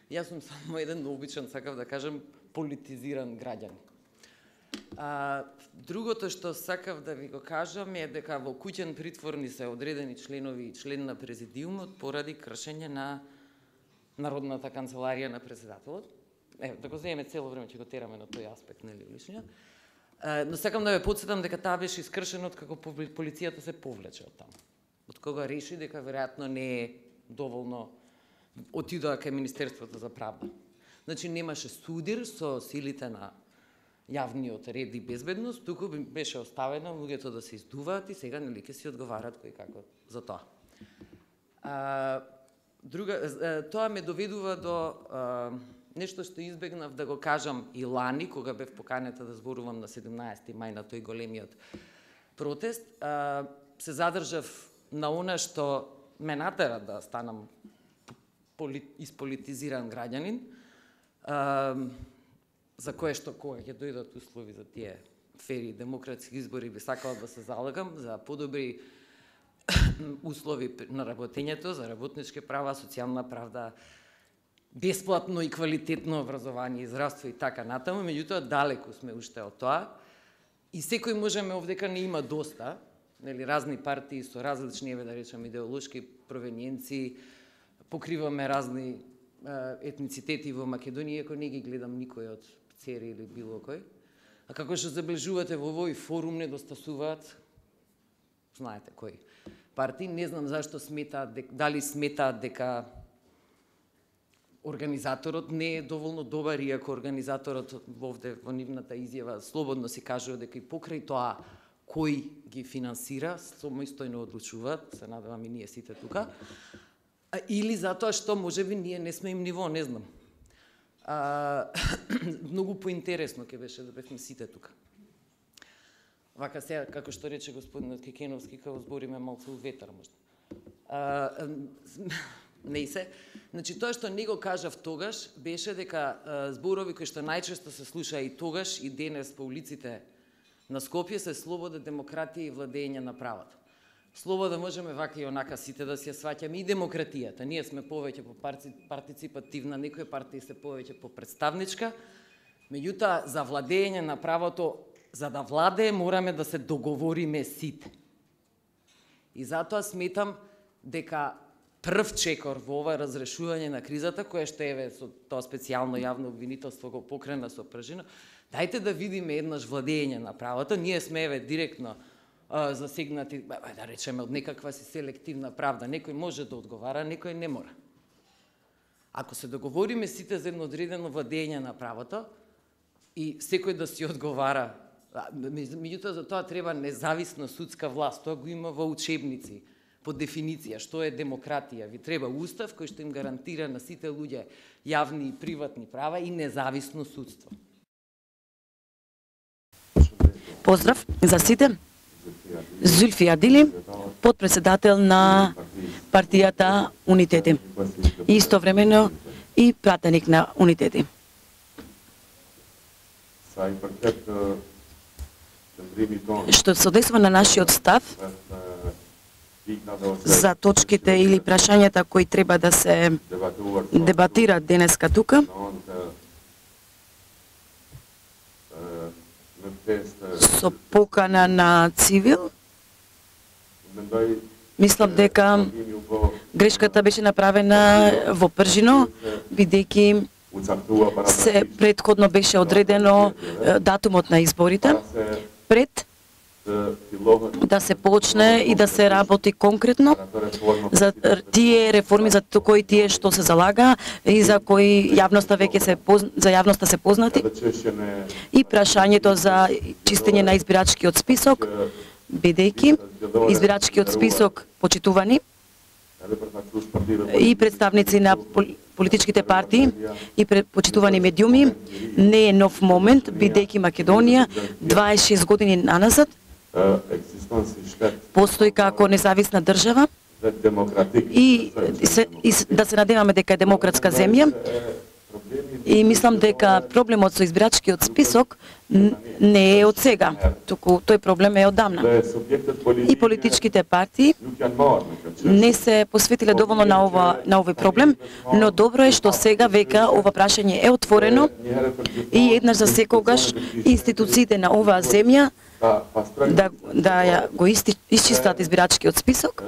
јас сум само еден обичен, сакав да кажам, политизиран граѓан. Другото што сакав да ви го кажам е дека во куќен притвор ни се одредени членови и член на президиумот поради кршење на Народната канцеларија на председателот. Да го земеме цело време, ќе го тераме на тој аспект, нели, лишниот. Но сакам да ве потсетам дека таа беше искршена од како полицијата се повлече од таму. Од кога реши дека веројатно не е доволно отидоа кај Министерството за правда. Значи немаше судир со силите на јавниот ред и безбедност, туку беше оставено луѓето да се издуваат и сега нели ќе си одговарат кој како за тоа. Тоа ме доведува до нешто што избегнав да го кажам и лани, кога бев поканета да зборувам на 17 мај на тој големиот протест. Се задржав на она што ме натера да станам исполитизиран граѓанин, за кое што кога ќе дојдат услови за тие фери демократски избори, би сакала да се залагам за подобри услови на работењето, за работнички права, социјална правда, бесплатно и квалитетно образование и здравство и така натаму, меѓутоа далеку сме уште од тоа. И секој можеме овдека не има доста, нели, разни партии со различни, да речем, идеолошки провениенции, покриваме разни етницитети во Македонија, ако не ги гледам никој од Цери или било кој. А како што забележувате во овој форум недостасуваат, знаете кој партии, не знам зашто сметаат, дали сметаат дека организаторот не е доволно добар, иако организаторот овде во нивната изјава слободно си кажува дека и покрај тоа кој ги финансира, самостојно одлучуваат, се надевам и ние сите тука, или затоа што можеби ние не сме им ниво, не знам. Многу поинтересно ќе беше да бевме сите тука. Вака сега, како што рече господинот Кекеновски, као збориме малку у ветар, можда. Не се. Значи, тоа што не го кажав тогаш, беше дека зборови кои што најчесто се слуша и тогаш и денес по улиците на Скопје се слобода, демократија и владење на правото. Слобода можеме вака и онака сите да си ја сваќаме и демократијата. Ние сме повеќе по партиципативна, некои партии се повеќе по представничка, меѓутоа за владење на правото, за да владее, мораме да се договориме сите. И затоа сметам дека прв чекор во ова разрешување на кризата, кое што еве со тоа специјално јавно обвинителство го покрена со пржина, дајте да видиме еднаш владење на правото. Ние сме еве директно засегнати, да речеме, од некаква си селективна правда. Некој може да одговара, некој не мора. Ако се договориме сите за едно одредено владење на правото и секој да си одговара, меѓутоа за тоа треба независна судска власт, тоа го има во учебници, по дефиниција, што е демократија. Ви треба устав кој што им гарантира на сите луѓе јавни и приватни права и независно судство. Поздрав за сите. Зулфи Адили, подпредседател на партијата Унитети. И истовремено и пратеник на Унитети. Што се однесува на нашиот став за точките или прашањата кои треба да се дебатираат денеска тука, со покана на цивил, мислам дека грешката беше направена во Пржино, бидејќи се претходно беше одредено датумот на изборите пред да се почне и да се работи конкретно за тие реформи за кои тие што се залага и за кои јавноста веќе се познати и прашањето за чистење на избирачкиот список, бидејќи избирачкиот список почитувани и представници на политичките партии и почитувани медиуми не е нов момент, бидејќи Македонија 26 години наназад постои како независна држава и да се надеваме дека е демократска земја. И мислам дека проблемот со избирачкиот список не е од сега, туку тој проблем е оддавна. И политичките партии не се посветиле доволно на овој проблем, но добро е што сега века ова прашање е отворено и еднаш за секогаш институциите на оваа земја да го исчистат избирачкиот список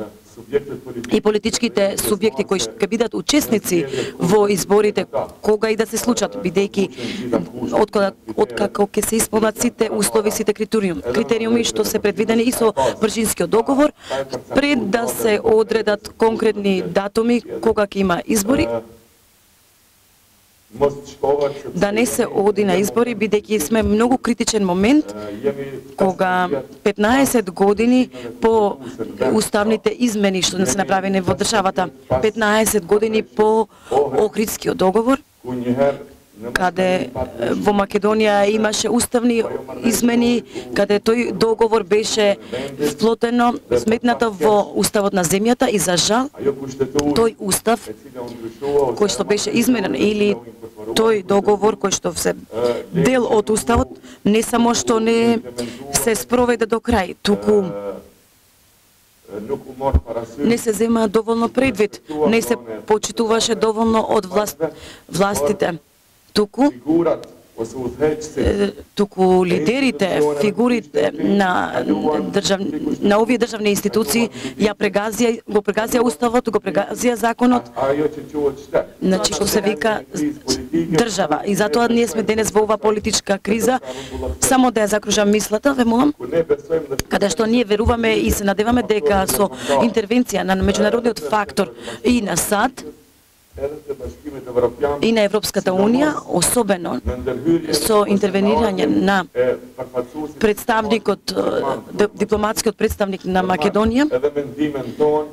и политичките субјекти кои ќе бидат учесници во изборите кога и да се случат, бидејќи откако ќе се исполнат сите услови, сите критериуми што се предвидени и со Бржинскиот договор, пред да се одредат конкретни датуми кога ќе има избори, да не се оди на избори, бидејќи сме многу критичен момент кога 15 години по уставните измени што не се направени во државата, 15 години по Охридскиот договор, каде во Македонија имаше уставни измени, каде тој договор беше вплотено, сметнато во уставот на земјата и за жал тој устав кој што беше изменен или тој договор кој што се дел од уставот не само што не се спроведе до крај, туку не се зема доволно предвид, не се почитуваше доволно од властите. Туку лидерите, фигурите на овие државни институции го прегазија уставот, го прегазија законот, значи што се вика држава. И затоа ние сме денес во оваа политичка криза. Само да ја закружам мислата, ве молам, каде што ние веруваме и се надеваме дека со интервенција на меѓународниот фактор и на САД и на Европската Унија, особено со интервенирање на представникот, дипломатскиот представник на Македонија,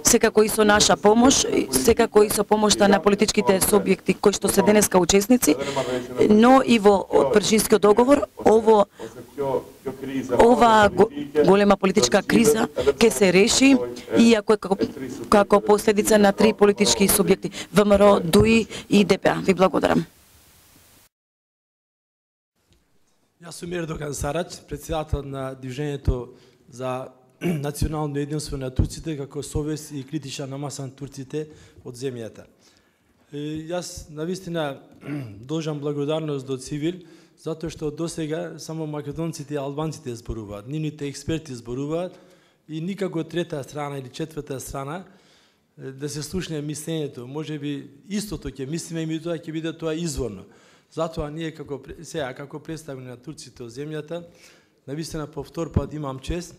секако и со наша помош, секако и со помошта на политичките субјекти кои што се денеска учесници, но и во Бржинскиот договор, ова голема политичка криза ќе се реши иако како последица на 3 политички субјекти: ВМРО, ДУИ и ДПА. Ви благодарам. Јас сум Ердоган Сарач, председател на Движењето за национално единство на турците, како совест и критична маса на турците од земјата. Јас навистина должам благодарност до Цивил, затоа што досега само македонците и албанците зборуваат, нивните експерти зборуваат и никако трета страна или четврта страна да се слушне мислењето. Може би истото ќе мислиме и тоа ќе биде тоа изворно. Затоа ние како представени на турците од земјата, навистина по втор пат имам чест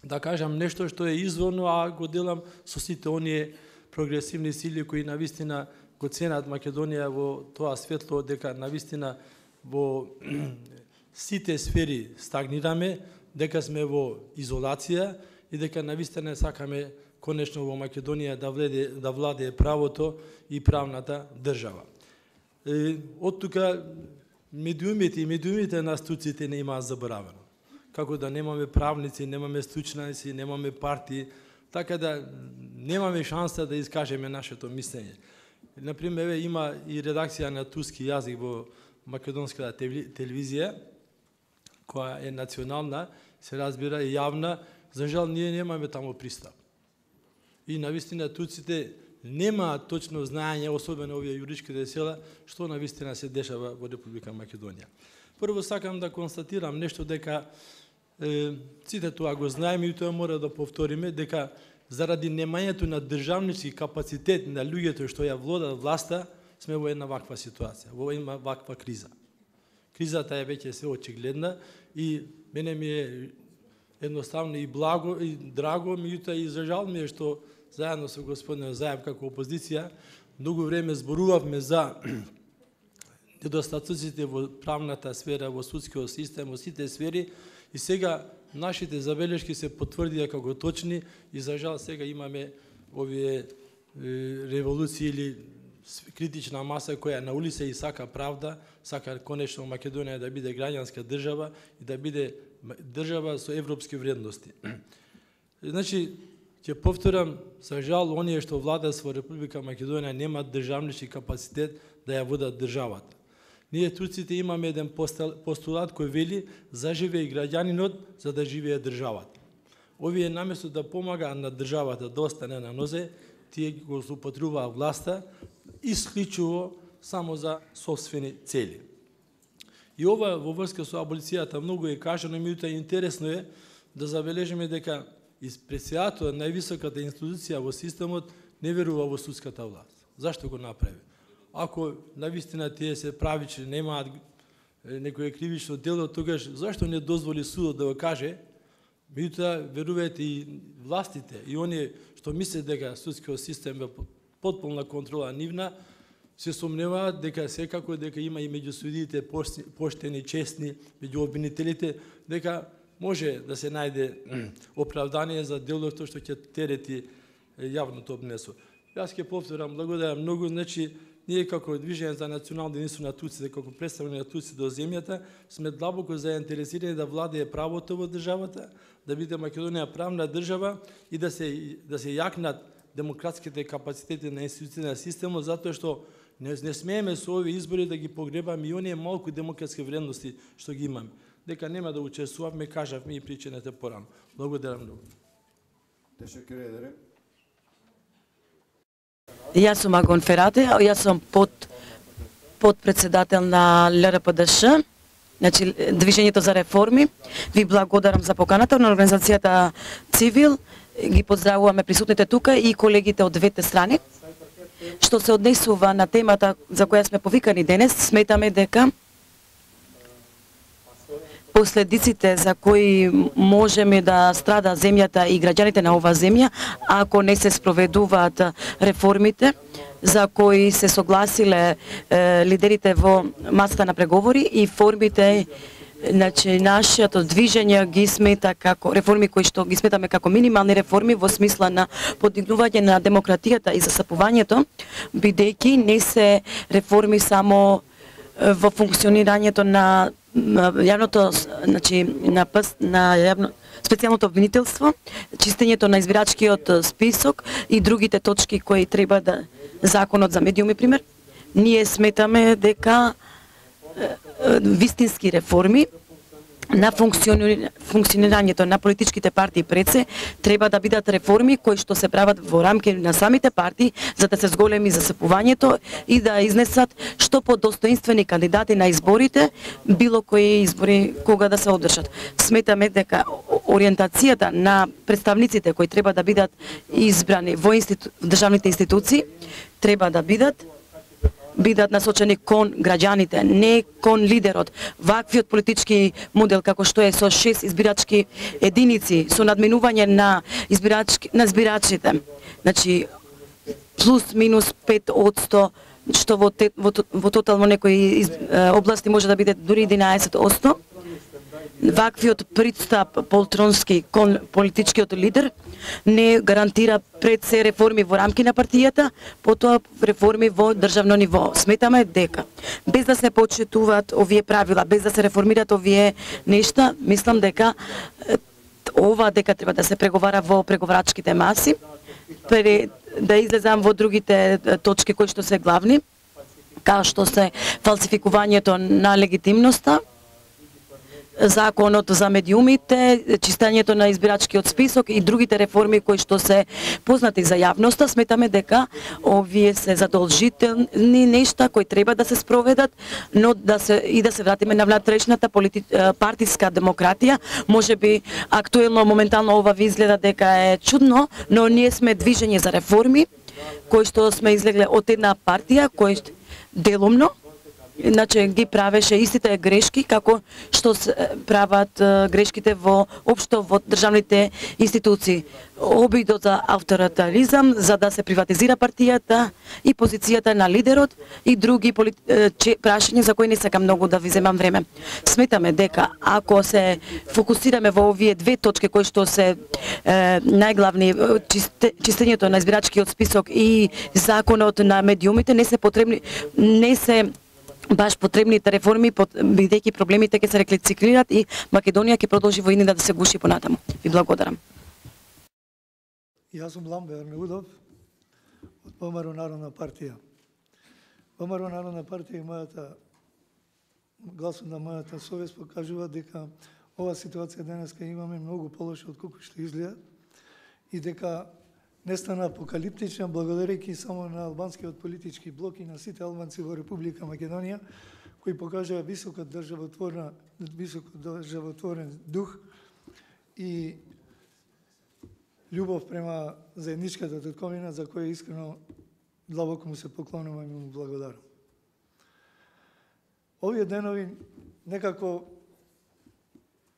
да кажам нешто што е изворно, а го делам со сите оние прогресивни сили кои навистина го ценат Македонија во тоа светло, дека навистина во сите сфери стагнираме, дека сме во изолација и дека навистина сакаме конечно во Македонија да владее правото и правната држава. Од тука медиумите на турците не имаат заборавено. Како да немаме правници, немаме стручњаци, немаме партии, така да немаме шанса да искажеме нашето мислење. Например, има и редакција на турски јазик во македонската телевизија, која е национална, се разбира и јавна. За жал, ние немаме таму пристап. И навистина турците немаат точно знаење, особено овие јуричките села, што навистина се дешава во Република Македонија. Прво сакам да констатирам нешто, дека сите тоа го знаеме и тоа мора да повториме, дека заради немањето на државнички капацитет на луѓето што ја владат власта, сме во една ваква ситуација, во една ваква криза. Кризата е веќе се очигледна и мене ми е едноставно и благо и драго, меѓутоа и за жал ми е што заедно со господин Заев како опозиција многу време зборувавме за недостатоците во правната сфера, во судскиот систем, во сите сфери и сега нашите забелешки се потврдија како точни и за жал сега имаме овие револуции или критична маса која на улица и сака правда, сака конечно Македонија да биде граѓанска држава и да биде држава со европски вредности. Значи, ќе повторам, за жал, оние што владат во Република Македонија немаат државнички капацитет да ја водат државата. Ние турците имаме еден постулат кој вели заживее и граѓанинот за да живее државата. Овие наместо да помагаат на државата да остане на нозе, тие го злоупотребуваат власта исклучиво само за собствени цели. И ова во врска со аболицијата многу е кажано, меѓутоа интересно е да забележиме дека председателот на највисоката институција во системот не верува во судската власт. Зашто го направи? Ако навистина тие се правични, немаат некое кривично дело, тогаш зашто не дозволи судот да го каже? Меѓутоа веруваат и властите и оние што мислат дека судскиот систем е потполна контрола нивна, се сомневаат дека секако дека има и меѓу судиите поштени, честни, меѓу обвинителите, дека може да се најде оправдание за делото што ќе терети јавното обнесо. Јас ќе повторам, благодарам многу, значи ние како Движење за национално единство на турците, како представени на турците до земјата, сме длабоко заинтересирани да владее правото во државата, да биде Македонија правна држава и да се јакнат демократските капацитети на институциите на системот, затоа што не смееме со овие избори да ги погребаме и оние малку демократски вредности што ги имаме. Дека нема да учествуваме, кажавме и причината порано. Благодарам многу. Јас сум Агон Ферате, јас сум подпредседател на ЛРПДШ, значи Движењето за реформи. Ви благодарам за поканата на организацијата Цивил. Ги поздравуваме присутните тука и колегите од двете страни. Што се однесува на темата за која сме повикани денес, сметаме дека последиците за кои можеме да страда земјата и граѓаните на оваа земја, ако не се спроведуваат реформите за кои се согласиле лидерите во масата на преговори и формите, значи нашето движење ги смета како реформи кои што ги сметаме како минимални реформи во смисла на подигнување на демократијата и засапувањето, бидејќи не се реформи само во функционирањето на јавното, значи на јавно специјалното обвинителство, чистењето на избирачкиот список и другите точки кои треба да законот за медиуми пример. Ние сметаме дека вистински реформи на функционирањето на политичките партии пред се треба да бидат реформи кои што се прават во рамки на самите партии за да се зголеми засапувањето и да изнесат што подостоинствени кандидати на изборите, било кои избори кога да се одржат. Сметаме дека ориентацијата на представниците кои треба да бидат избрани во државните институции треба да бидат насочени кон граѓаните, не кон лидерот. Ваквиот политички модел како што е со 6 избирачки единици, со надминување на избирачите, значи плюс минус 5%, што во тотално некои области може да биде дури 11%. Ваквиот пристап полтронски кон политичкиот лидер не гарантира пред се реформи во рамки на партијата, потоа реформи во државно ниво. Сметаме дека без да се почитуваат овие правила, без да се реформираат овие нешта, мислам дека дека треба да се преговара во преговарачките маси, да излезам во другите точки кои што се главни, као што се фалсификувањето на легитимноста, законот за медиумите, чистењето на избирачкиот список и другите реформи кои што се познати за јавноста, сметаме дека овие се задолжителни нешта кои треба да се спроведат, но да се вратиме на внатрешната партиска демократија. Можеби актуелно моментално ова ви изгледа дека е чудно, но ние сме движење за реформи кои што сме излегле од една партија делумно, значи ги правеше истите грешки како што прават грешките во општо во државните институции. Обидот за авторитаризам, за да се приватизира партијата и позицијата на лидерот и други прашања за кои не сакам многу да ви земам време. Сметаме дека ако се фокусираме во овие две точки кои што се најглавни, чистењето на избирачкиот список и законот на медиумите, не се баш потребните реформи, бидејќи проблемите ќе се рециклират и Македонија ќе продолжи во иднина да се гуши понатаму. Ви благодарам. Јас сум Ламбер Неудов од ВМРО Народна партија. ВМРО Народна партија и мојата гласот на мојата совест покажува дека ова ситуација денеска имаме многу полоша од колку што изгледа и дека не стана апокалиптична благодарејќи само на албанскиот политички блок и на сите албанци во Република Македонија, кои покажаа високо државотворен дух и љубов према заедничката татковина, за која искрено длабоко му се поклонувам и му благодарам. Овие денови некако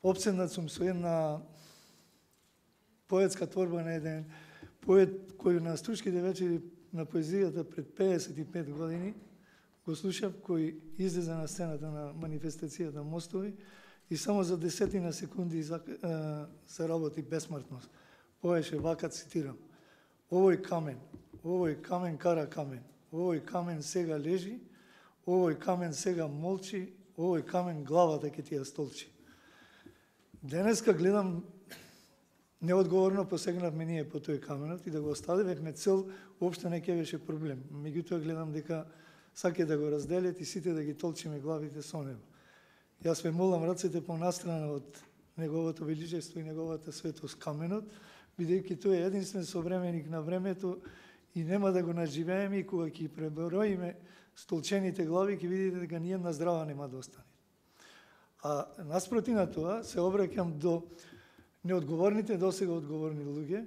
опседнат сум со една поетска творба на еден поет кој на Стручките вечери на поезијата пред 55 години го слушав, кој излезе на сцената на манифестацијата Мостови и само за 10 секунди заработи бесмртност. Поеше вака, цитирам: овој камен кара камен, овој камен сега лежи, овој камен сега молчи, овој камен главата ќе ти ја столчи. Денеска гледам неодговорно посегнавме ние по тој каменот и да го оставивме цел, уопште не ќе беше проблем. Меѓутоа гледам дека саке да го разделят и сите да ги толчиме главите со него. Јас ве молам рацете понастрана од неговото величество и неговата светост каменот, бидејќи тој е единствен современик на времето и нема да го наживееме и кога ќе преброиме столчените глави ќе видите дека ниједна здрава нема да остане. А наспроти на тоа се обраќам до неодговорните досега одговорни луѓе,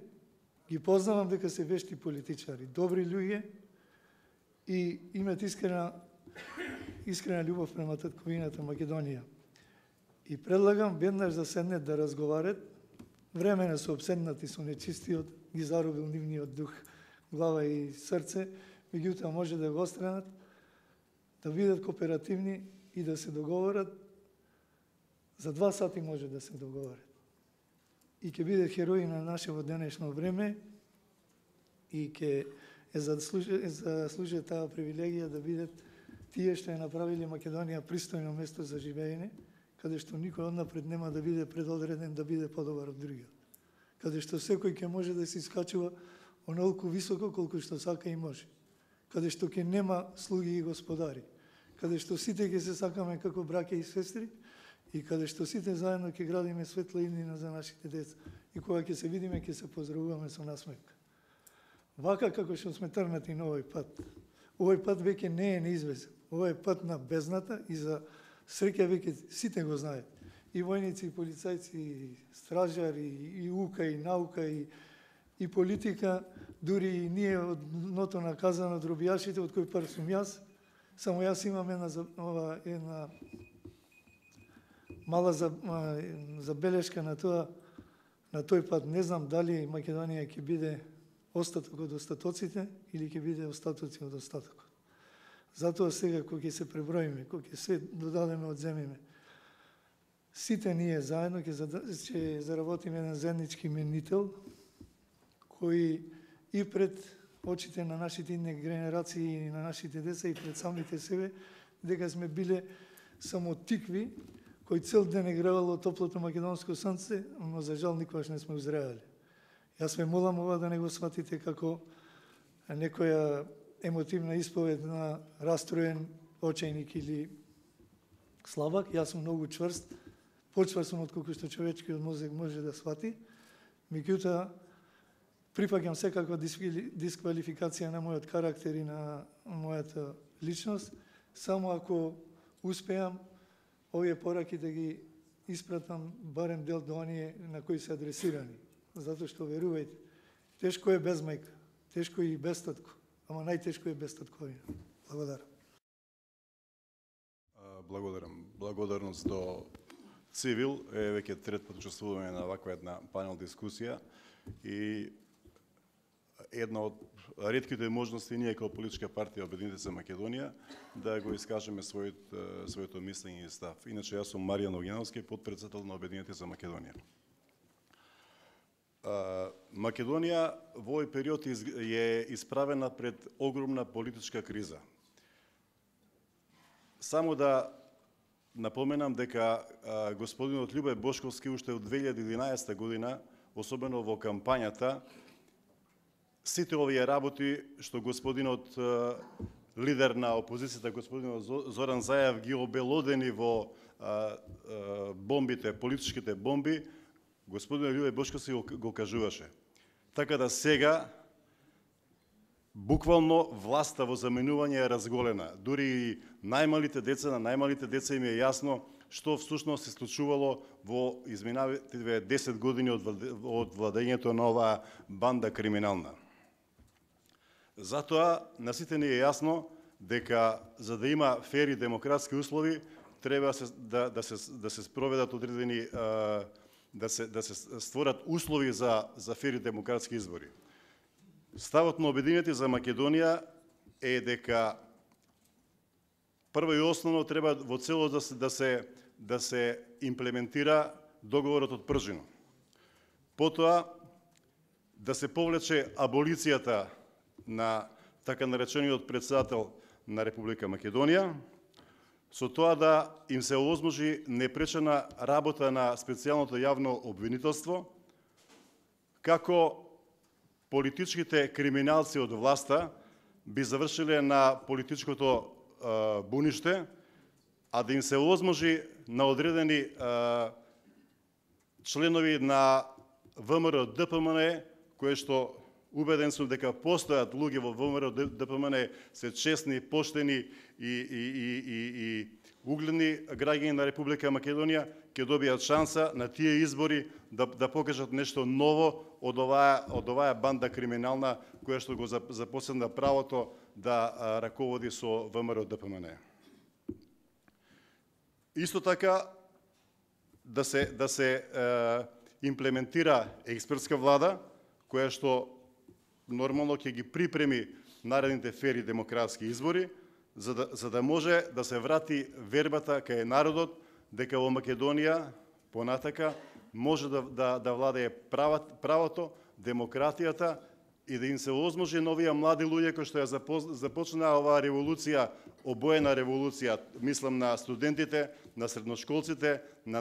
ги познавам дека се вешти политичари, добри луѓе и имат искрена љубов према татковината Македонија. И предлагам веднаш да седнат да разговарат, времено се обседнати со нечистиот, ги заробил нивниот дух, глава и срце, меѓутоа може да го остранат, да бидат кооперативни и да се договорат. За 2 сати може да се договорат. И ќе бидат херои на нашето денешно време и ќе заслужат таа привилегија да бидат тие што ја направиле Македонија пристојно место за живеење, каде што никој однапред нема да биде предодреден да биде подобар од другиот. Каде што секој ќе може да се искачува онолку високо колку што сака и може. Каде што ќе нема слуги и господари. Каде што сите ќе се сакаме како браќа и сестри и каде што сите заедно ќе градиме светла иднина за нашите деца. И кога ќе се видиме, ќе се поздравуваме со насмевка. Вака како што сме трнати на овој пат. Овој пат веќе не е неизвестен. Овој е пат на бездната и за среќа веќе сите го знаат. И војници, и полицајци, и стражари, и ука, и наука, и политика, дури и ние од ното наказано од робијашите, од кој пар сум јас. Само јас имам една мала забелешка на тоа, на тој пат. Не знам дали Македонија ќе биде остаток од остатоците или ќе биде остатоци од остатокот. Затоа сега, кога ќе се преброиме, кога ќе се додадеме, одземиме, сите ние заедно ќе заработиме еден заеднички именител, кој и пред очите на нашите идни генерации и на нашите деца и пред самите себе, дека сме биле само тикви, кој цел ден е гревало топлото македонско сонце, но за жал никогаш не сме узреали. Јас ве молам ова да не го сватите како некоја емотивна исповед на растроен очајник или слабак. Јас сум многу чврст, почврст сум отколку што човечкиот мозок може да свати. Меѓутоа, прифаќам секаква дисквалификација на мојот карактер и на мојата личност, само ако успеам овие пораки да ги испратам барем дел до оние на кои се адресирани. Затоа што, верувајте, тешко е без мајка, тешко е и без татко, ама најтешко е без татковина. Благодарам. Благодарам. Благодарност до Цивил. Веќе трет пат учествуваме на ваква една панел дискусија и една од ретките можности ние како политичка партија Обединети за Македонија да го искажеме своето мислење и став. Иначе јас сум Маријан Огиновски, подпредседател на Обединети за Македонија. Македонија во овој период е исправена пред огромна политичка криза. Само да напоменам дека господинот Љубе Бошковски уште од 2011 година, особено во кампањата, сите овие работи што господинот лидер на опозицијата, господинот Зоран Заев, ги обелодени во бомбите, политичките бомби, господинот Љубе Бошковски го кажуваше. Така да сега буквално власта во заменување е разголена. Дури и на најмалите деца им е јасно што всушност се случувало во изминативе 10 години од владењето на оваа банда криминална. Затоа на сите ни е јасно дека за да има фер и демократски услови треба да се спроведат одредени да се створат услови за фер и демократски избори. Ставот на Обединети за Македонија е дека прво и основно треба во целост да се имплементира договорот од Пржино. Потоа да се повлече аболицијата на така наречениот председател на Република Македонија, со тоа да им се овозможи непречена работа на специјалното јавно обвинителство, како политичките криминалци од власта би завршиле на политичкото буниште, а да им се овозможи на одредени членови на ВМРО ДПМН, кои што убеден сум дека постојат луѓе во ВМРО ДПМН се честни, поштени и угледни граѓани на Република Македонија, ќе добијат шанса на тие избори да покажат нешто ново од оваа банда криминална која што го запоседна правото да раководи со ВМРО ДПМН. Исто така да се имплементира експертска влада која што нормално ќе ги припреми наредните фери демократски избори, за да може да се врати вербата кај народот дека во Македонија понатака може да владее правото, демократијата и да им се овозможи на овие млади луѓе кои што ја започнаа оваа револуција, обоена револуција, мислам на студентите, на средношколците, на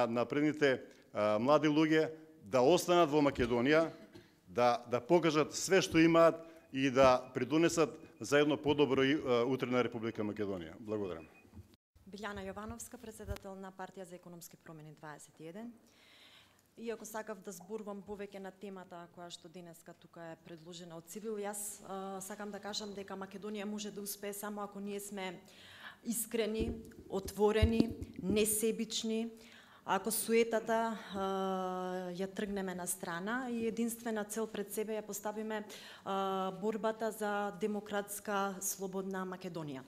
напредните млади луѓе, да останат во Македонија, да покажат све што имаат и да придонесат за едно подобро утре на Република Македонија. Благодарам. Билјана Јовановска, председател на Партија за економски промени 21. Иако сакав да зборувам повеќе на темата која што денеска тука е предложена од Цивил, јас сакам да кажам дека Македонија може да успее само ако ние сме искрени, отворени, несебични, ако суетата ја тргнеме на страна и единствена цел пред себе ја поставиме борбата за демократска, слободна Македонија.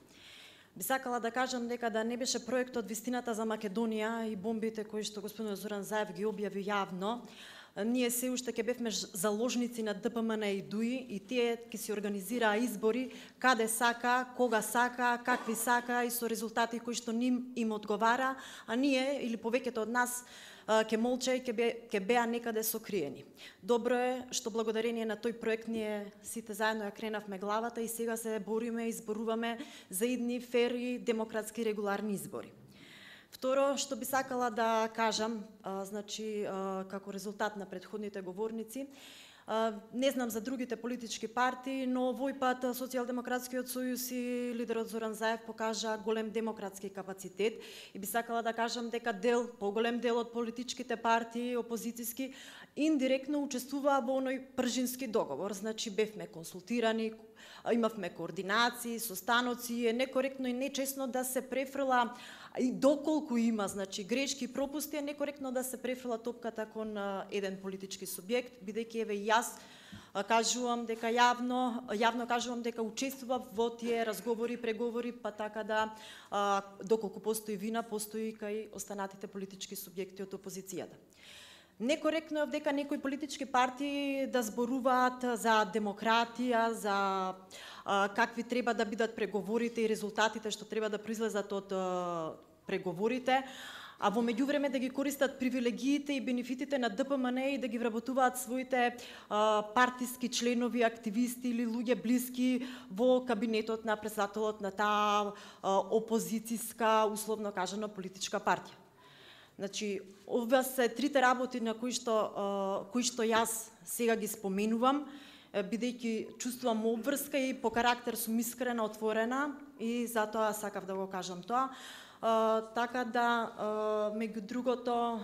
Би сакала да кажам дека да не беше проектот Вистината за Македонија и бомбите кои што господин Зоран Заев ги објави јавно, ние се уште ќе бевме заложници на ДПМН и ДУИ и тие ќе се организираа избори каде сака, кога сака, какви сака и со резултати кои што им одговара, а ние или повеќето од нас ќе молча и ќе беа некаде сокриени. Добро е што благодарение на тој проект ние сите заедно ја кренавме главата и сега се бориме и зборуваме за идни фер и демократски регуларни избори. Второ, што би сакала да кажам, како резултат на претходните говорници, не знам за другите политички партии, но овој пат Социјалдемократскиот сојуз и лидерот Зоран Заев покажа голем демократски капацитет и би сакала да кажам дека поголем дел од политичките партии, опозицијски, индиректно учествуваа во оној пржински договор. Значи, бевме консултирани, имавме координации, состаноци, е некоректно и нечесно да се префрла и доколку има грешки и пропусти, е некоректно да се префрла топката кон еден политички субјект, бидејќи еве јас кажувам дека јавно кажувам дека учествував во тие разговори, преговори, па така да доколку постои вина, постои кај останатите политички субјекти од опозицијата. Некоректно е дека некои политички партии да зборуваат за демократија, за какви треба да бидат преговорите и резултатите што треба да произлезат од преговорите, а во меѓувреме да ги користат привилегиите и бенефитите на ДПМН и да ги вработуваат своите партиски членови, активисти или луѓе блиски во кабинетот на председателот на таа опозицијска, условно кажано, политичка партија. Значи, ова се трите работи на кои што јас сега ги споменувам, бидејќи чувствувам обврска и по карактер сум искрена, отворена и затоа сакав да го кажам тоа. Така да, меѓу другото,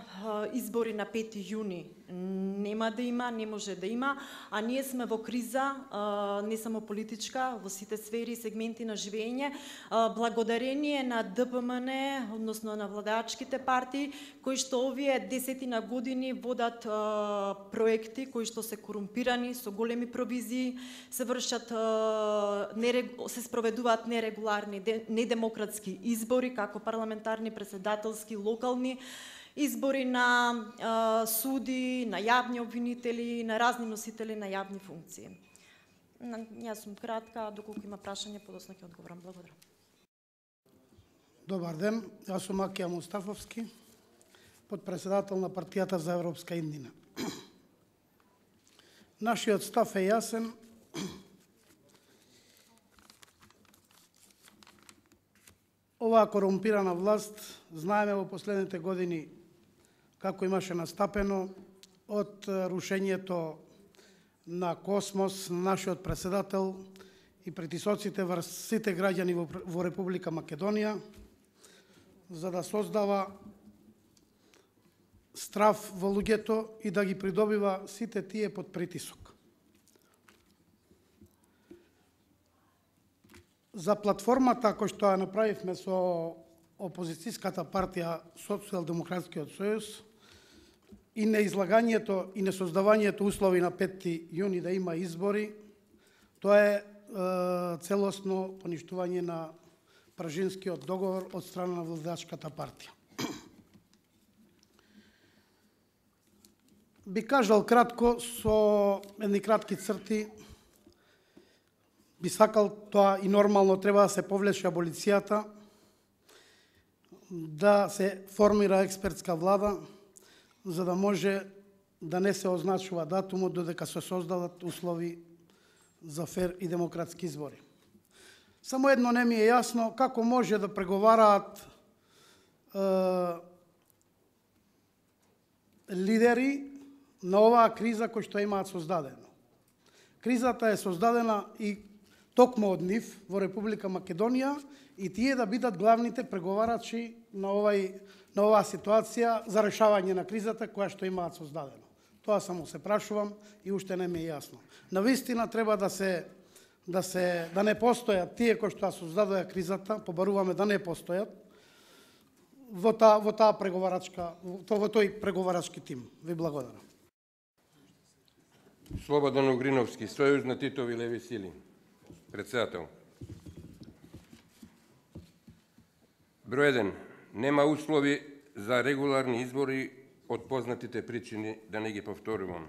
избори на 5 јуни нема да има, не може да има, а ние сме во криза, не само политичка, во сите сфери и сегменти на живење, благодарение на ДПМН, односно на владеачките партии, кои што овие 10 години водат проекти кои што се корумпирани, со големи провизии, се вршат, се спроведуваат нерегуларни, недемократски избори, како парламентарни, председателски, локални, избори на суди, на јавни обвинители, на разни носители на јавни функции. Јас сум кратка, доколку има прашање, подоцна ќе одговорам. Благодарам. Добар ден, јас сум Акија Мустафовски, подпредседател на Партијата за Европска иднина. Нашиот став е јасен. Оваа корумпирана власт, знаеме во последните години како имаше настапено од рушењето на Космос, на нашиот председател и притисоците врз сите граѓани во Република Македонија, за да создава страв во луѓето и да ги придобива сите тие под притисок. За платформата која што ја направивме со опозицијската партија Социјалдемократскиот сојуз и неизлагањето и несоздавањето услови на 5 јуни да има избори, тоа е целосно поништување на Пражинскиот договор од страна на владеачката партија. Би кажал кратко, со едни кратки црти, би сакал тоа и нормално треба да се повлече аболицијата, да се формира експертска влада, за да може да не се означува датумот додека се создадат услови за фер и демократски избори. Само едно не ми е јасно, како може да преговараат лидери на оваа криза кој што имаат создадено. Кризата е создадена и токму од нив во Република Македонија и тие да бидат главните преговарачи на оваа ситуација за решавање на кризата која што имаат создадено. Тоа само се прашувам и уште не ми е јасно. Навистина треба да не постојат тие кои што создадоа кризата, побаруваме да не постојат во тој преговарачки тим. Ви благодарам. Слободан Огриновски, Сојуз на Титови леви сили. Председател. Број 1. Нема услови за регуларни избори од познатите причини, да не ги повторувам.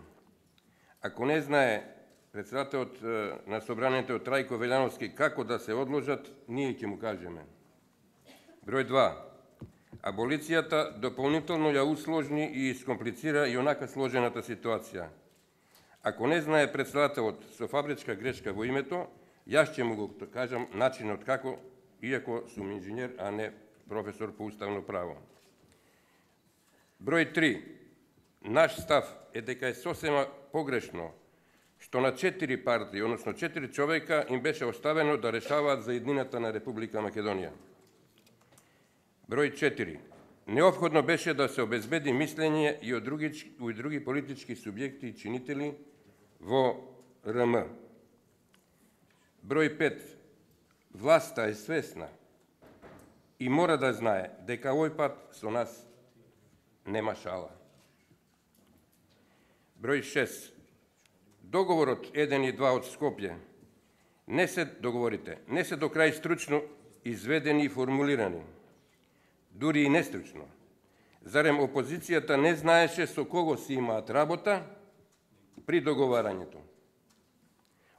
Ако не знае председателот на собранието Трајко Велјановски како да се одложат, ние ќе му кажеме. Број 2. Аболицијата дополнително ја усложни и искомплицира и онака сложената ситуација. Ако не знае председателот со фабричка грешка во името, јас ќе му го кажам начинот како, иако сум инженер, а не професор по уставно право. Број 3. Наш став е дека е сосема погрешно што на 4 партии, односно 4 човека, им беше оставено да решаваат за иднината на Република Македонија. Број 4. Неопходно беше да се обезбеди мислење и од други политички субјекти и чинители во РМ. Број 5. Власта е свесна и мора да знае дека овој пат со нас нема шала. Број 6. договорот 1 и 2 од Скопје не се до крај стручно изведени и формулирани, дури и нестручно. Зарем опозицијата не знаеше со кого си имаат работа при договарањето?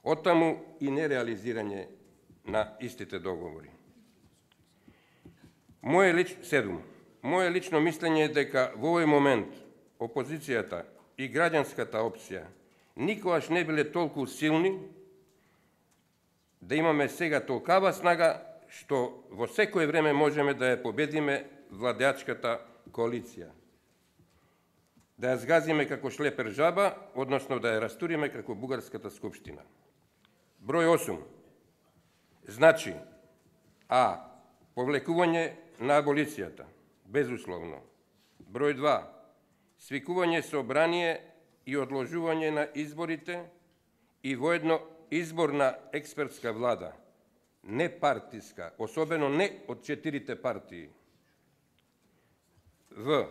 Оттаму и нереализирање на истите договори. Моje лично мислење е дека во овој момент опозицијата и граѓанската опција никогаш не биле толку силни да имаме сега толкава снага што во секое време можеме да ја победиме владеачката коалиција. Да ја згазиме како шлепер жаба, односно да ја растуриме како Бугарската скупштина. Број 8. Значи, А. Повлекување на аболицијата, безусловно. Број 2. Свикување собрание и одложување на изборите и воедно избор на експертска влада, не партиска, особено не од 4 партии. В.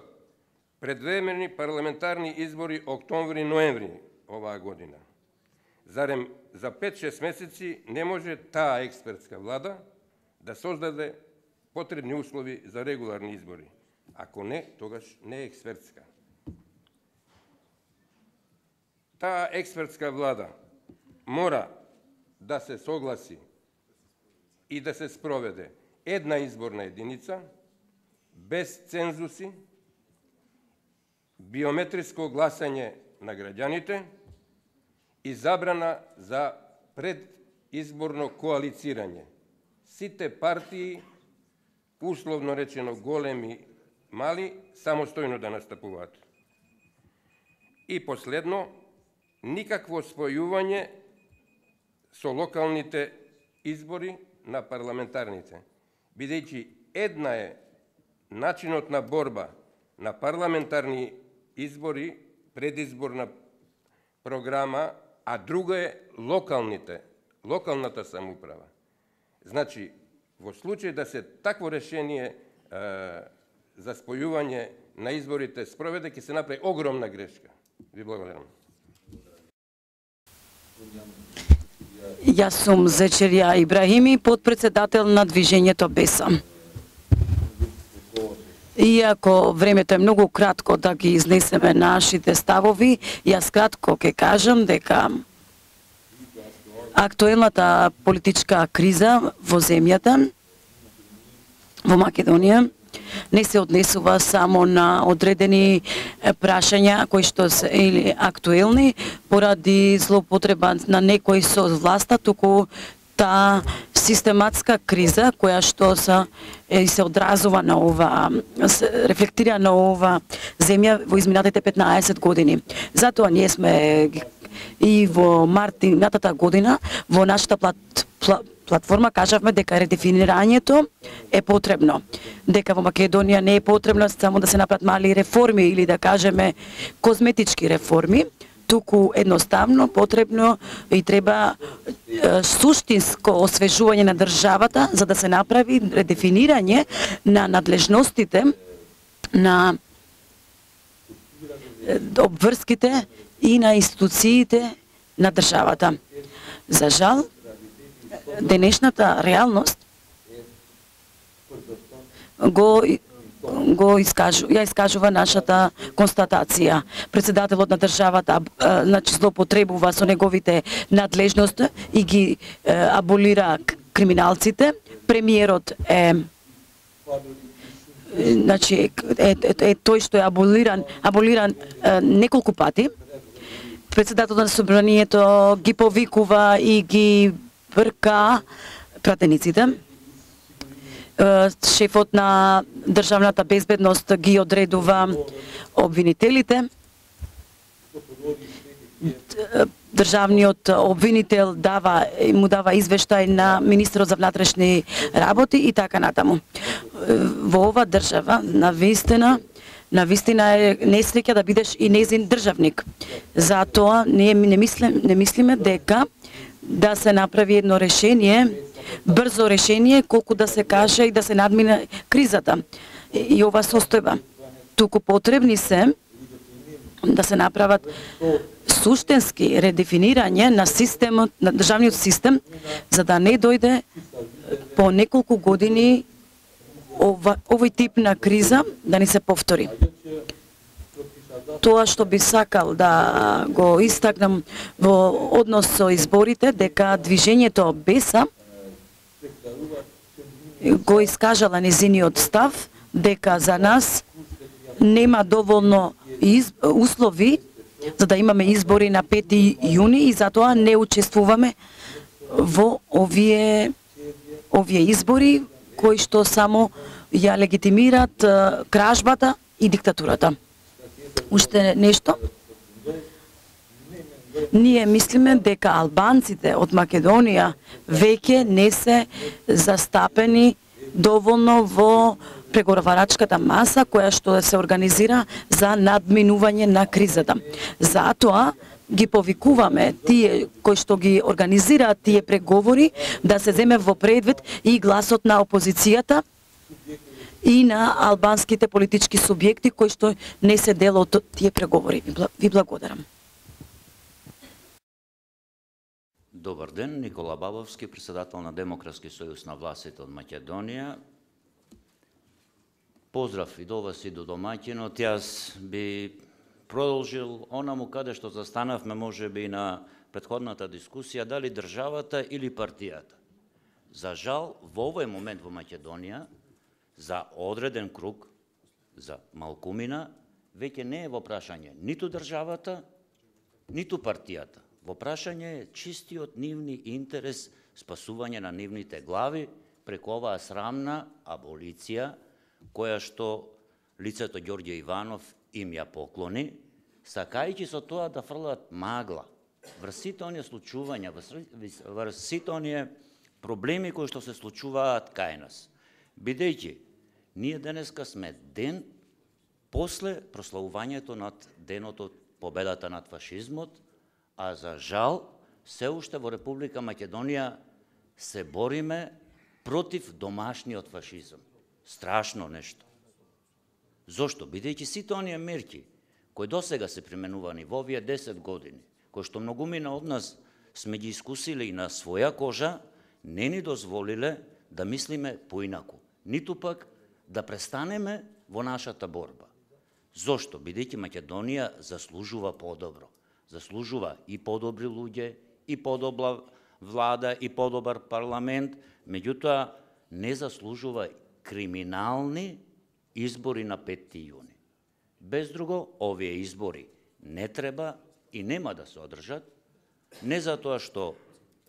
Предвремени парламентарни избори октомври-ноември оваа година. Зарем за 5-6 месеци не може таа експертска влада да создаде потребни услови за регуларни избори. Ако не, тогаш не е експертска. Таа експертска влада мора да се согласи и да се спроведе една изборна единица, без цензуси, биометриско гласање на граѓаните и забрана за предизборно коалицирање. Сите партии, условно речено големи, мали, самостојно да настапуваат. И последно, никакво спојување со локалните избори на парламентарните, бидејќи една е начинот на борба на парламентарни избори, предизборна програма, а друга е локалната самоуправа. Значи, во случај да се такво решение за спојување на изборите спроведе, ќе се направи огромна грешка. Ви благодарам. Јас сум Зечерја Ибрахими, подпредседател на Движењето Беса. Иако времето е многу кратко да ги изнесеме нашите ставови, јас кратко ќе кажам дека актуелната политичка криза во земјата, во Македонија, не се однесува само на одредени прашања кои што се или актуелни поради злоупотреба на некои со власта, туку таа систематска криза која што се одразува на ова, се рефлектира на ова земја во изминатите 15 години. Затоа ние сме и во март минатата година во нашата платформа кажавме дека редефинирањето е потребно. Дека во Македонија не е потребно само да се направат мали реформи или да кажеме козметички реформи, туку едноставно потребно и треба суштинско освежување на државата за да се направи редефинирање на надлежностите, на обврските и на институциите на државата. За жал, денешната реалност ја искажува нашата констатација. Председателот на државата значи злоупотребува со неговите надлежности и ги аболира криминалците. Премиерот е значи тој што е аболиран неколку пати. Председателот на собранието ги повикува и ги брка пратениците. Шефот на државната безбедност ги одредува обвинителите. Државниот обвинител му дава извештај на министерот за внатрешни работи и така натаму. Во ова држава навистина е несреќа да бидеш и незин државник. Затоа ние не мислиме дека да се направи едно решение, брзо решение, колку да се каже и да се надмине кризата и ова состојба. Туку потребни се да се направат суштински редефинирање на системот, на државниот систем, за да не дојде по неколку години овој тип на криза да не се повтори. Тоа што би сакал да го истакнам во однос со изборите, дека движењето Беса го искажала незиниот став, дека за нас нема доволно услови за да имаме избори на 5 јуни и затоа не учествуваме во овие избори кои што само ја легитимираат кражбата и диктатурата. Уште нешто? Ние мислиме дека албанците од Македонија веќе не се застапени доволно во преговарачката маса која што се организира за надминување на кризата. Затоа ги повикуваме тие кои што ги организираат тие преговори да се земе во предвид и гласот на опозицијата и на албанските политички субјекти кои што не се дел од тие преговори. Ви благодарам. Добар ден, Никола Бабовски, председател на Демократски сојуз на властите од Македонија. Поздрав и до вас и до домаќинот. Јас би продолжил онаму каде што застанавме можеби на претходната дискусија, дали државата или партијата. За жал, во овој момент во Македонија, за одреден круг, за малкумина, веќе не е во прашање ниту државата, ниту партијата. Во прашање е чистиот нивни интерес, спасување на нивните глави преку оваа срамна аболиција, која што лицето Ѓорѓе Иванов им ја поклони, сакајќи со тоа да фрлат магла врз сите оние случувања, врз сите оние проблеми кои што се случуваат кај нас. Бидејќи, ние денеска сме ден после прославувањето над денот од победата над фашизмот, а за жал, се уште во Република Македонија се бориме против домашниот фашизам. Страшно нешто. Зошто? Бидејќи сите оние мерки кои досега се применувани во овие 10 години, кои што многумина од нас сме ги искусили на своја кожа, не ни дозволиле да мислиме поинаку, ниту пак да престанеме во нашата борба. Зошто? Бидејќи Македонија заслужува подобро. Заслужува и подобри луѓе, и подобра влада, и подобар парламент, меѓутоа не заслужува криминални избори на 5 јуни. Без друго, овие избори не треба и нема да се одржат, не затоа што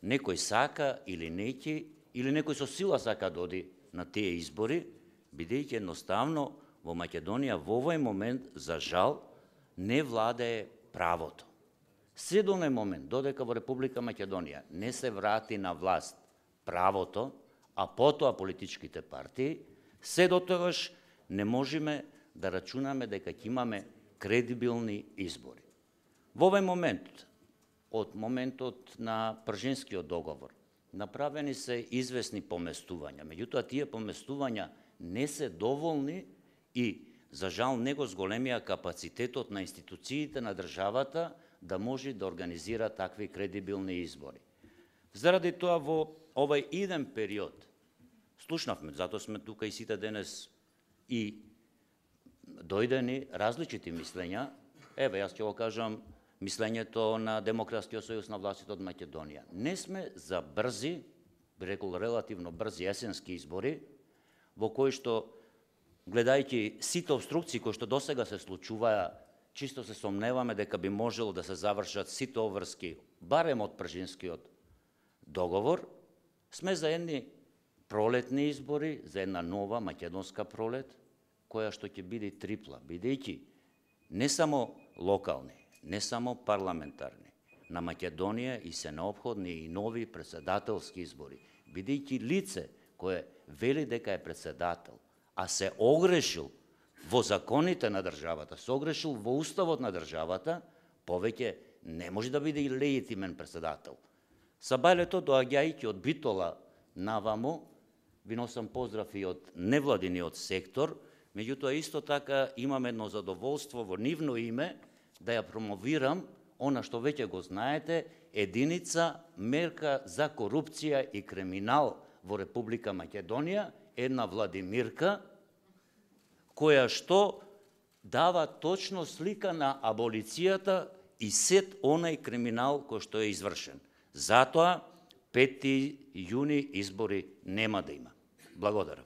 некој сака или неќе, или некој со сила сака да оди на тие избори, бидејќи едноставно во Македонија во овој момент, за жал, не владее правото. Се до оној момент, додека во Република Македонија не се врати на власт правото, а потоа политичките партии, се до тогаш не можеме да рачунаме дека ќе имаме кредибилни избори. Во овој момент, од моментот на Пржинскиот договор, направени се известни поместувања, меѓутоа тие поместувања не се доволни и, за жал, не го зголемија капацитетот на институциите на државата да може да организира такви кредибилни избори. Заради тоа во овој иден период слушнавме, затоа сме тука и сите денес и дојдени различити мислења. Еве, јас ќе го кажам мислењето на Демократскиот сојуз на властите од Македонија. Не сме за брзи, би рекол релативно брзи есенски избори, во кои што, гледајќи сите обструкции кои што досега се случуваа, чисто се сомневаме дека би можело да се завршат сите обврски, барем од Пржинскиот договор, сме за едни пролетни избори, за една нова македонска пролет, која што ќе биде трипла, бидејќи не само локални, не само парламентарни, на Македонија и се необходни и нови председателски избори, бидејќи лице кое вели дека е председател, а се огрешил во законите на државата, се огрешил во уставот на државата, повеќе не може да биде и легитимен председател. Сабајлето, доаѓајќи од Битола наваму, ви носам поздрав и од невладиниот сектор, меѓутоа исто така имам едно задоволство во нивно име да ја промовирам она што веќе го знаете, единица мерка за корупција и криминал во Република Македонија, една Владимирка, која што дава точно слика на аболицијата и сет онај криминал кој што е извршен. Затоа 5. јуни избори нема да има. Благодарам.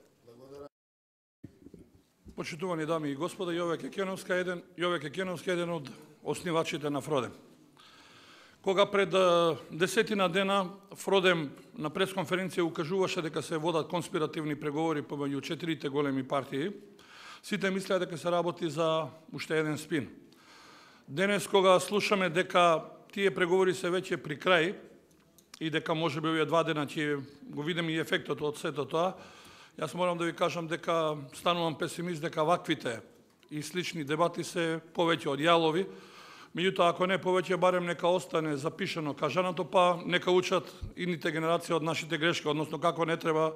Почитувани дами и господа, Јове Кекеновска еден од основачите на Фродем. Кога пред 10 дена Фродем на пресконференција укажуваше дека се водат конспиративни преговори помеѓу 4 големи партии, сите мислеа дека се работи за уште еден спин. Денес кога слушаме дека тие преговори се веќе при крај и дека можеби овие 2 дена ќе го видиме и ефектот од сето тоа, јас морам да ви кажам дека станувам песимист дека ваквите и слични дебати се повеќе од јалови. Меѓутоа, ако не повеќе, барем нека остане запишано кажаното, па нека учат идните генерации од нашите грешки, односно како не треба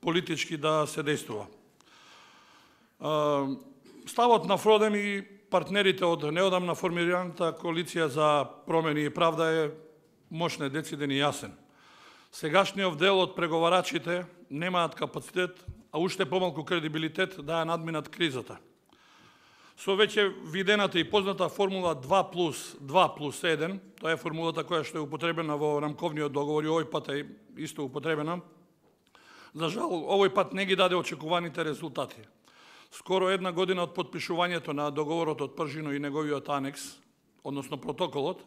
политички да се действува. Ставот на Фродем и партнерите од неодамна формираната коалиција за промени и правда е мощен, дециден и јасен. Сегашниот дел од преговарачите немаат капацитет, а уште помалку кредибилитет да ја надминат кризата. Со веќе видената и позната формула 2+2+1, тоа е формулата која што е употребена во рамковниот договор и овој пат е исто употребена, за жал, овој пат не ги даде очекуваните резултати. Скоро една година од подпишувањето на договорот од Пржино и неговиот анекс, односно протоколот,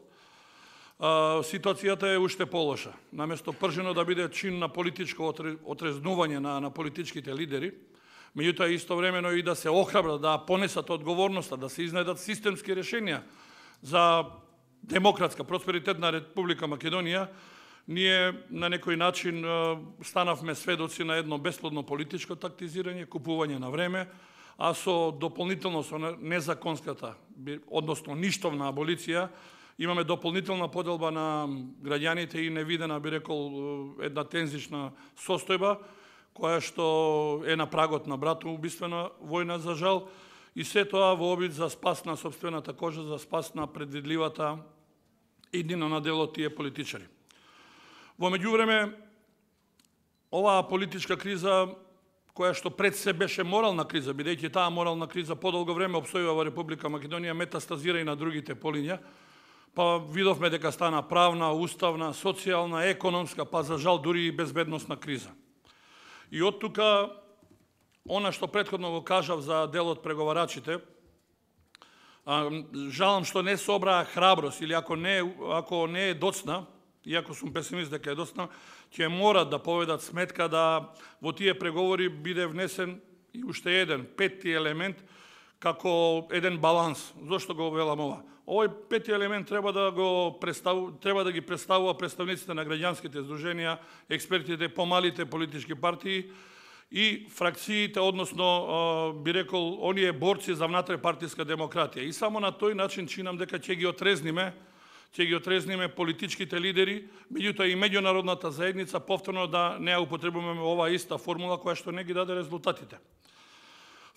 ситуацијата е уште полоша. Наместо Пржино да биде чин на политичко отрезнување на политичките лидери, меѓутоа истовремено и да се охрабрат, да понесат одговорноста, да се изнедат системски решенија за демократска, просперитетна Република Македонија, ние на некој начин станавме сведоци на едно бесплодно политичко тактизирање, купување на време, а со дополнително со незаконската, односно ништовна аболиција, имаме дополнителна поделба на граѓаните и невидена, би рекол, една тензична состојба, која што е на прагот на братоубиствена војна за жал, и се тоа во обид за спас на собствената кожа, за спас на предвидливата иднина на дел од тие политичари. Во меѓувреме, оваа политичка криза, која што пред се беше морална криза, бидејќи таа морална криза подолго време опстојува во Република Македонија, метастазира и на другите полиња, па видовме дека стана правна, уставна, социјална, економска, па за жал дури и безбедносна криза. И од тука, она што претходно го кажав за делот преговарачите, жалам што не собраа храброст, или ако не е доцна, иако сум песимист дека е доцна, ќе морат да поведат сметка да во тие преговори биде внесен и уште еден, 5-ти елемент, како еден баланс. Зошто го велам ова? Овој 5-ти елемент треба да ги представува представниците на граѓанските здруженија, експертите, помалите политички партии и фракциите, односно, би рекол, оние борци за внатрепартиска демократија. И само на тој начин чинам дека ќе ги отрезниме политичките лидери, меѓутоа и меѓународната заедница повторно да не ја употребуваме оваа иста формула која што не ги даде резултатите.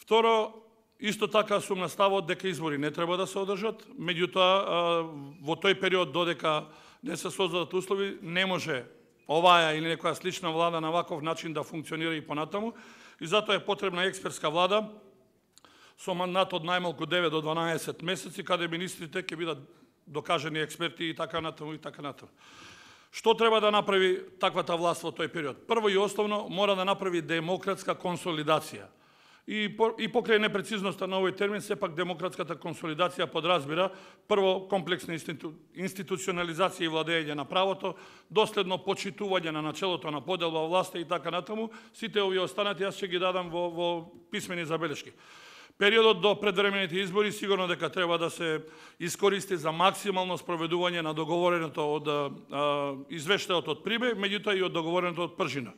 Второ, исто така сум на ставот дека избори не треба да се одржат, меѓутоа во тој период додека не се создадат услови, не може оваа или некоја слична влада на ваков начин да функционира и понатаму, и затоа е потребна експертска влада со мандат од најмалку 9 до 12 месеци, каде министрите ќе бидат докажени експерти и така натаму и така натаму. Што треба да направи таквата власт во тој период? Прво и основно мора да направи демократска консолидација. И покрај непрецизноста на овој термин, сепак демократската консолидација подразбира прво комплексна институционализација и владење на правото, доследно почитување на начелото на поделба власта и така натаму. Сите овие останати јас ќе ги дадам во писмени забелешки. Периодот до предвремените избори сигурно дека треба да се искористи за максимално спроведување на договореното од извештајот од Прибе, меѓутоа и од договореното од Пржино.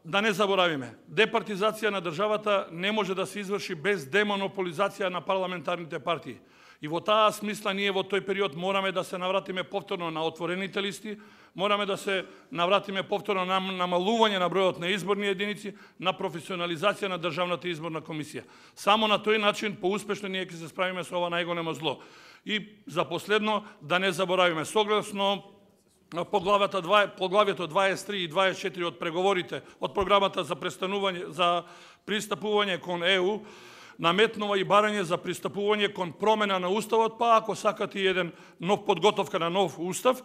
Да не заборавиме, департизација на државата не може да се изврши без демонополизација на парламентарните партии. И во таа смисла ние во тој период мораме да се навратиме повторно на отворените листи, мораме да се навратиме повторно на намалување на бројот на изборни единици, на професионализација на Државната изборна комисија. Само на тој начин поуспешно ние ќе се справиме со ова најголемо зло. И за последно да не заборавиме, согласно поглавието 23 и 24 од преговорите од програмата за пристапување кон ЕУ, наметнува и барање за пристапување кон промена на уставот, па ако сакате и еден нов подготовка на нов устав,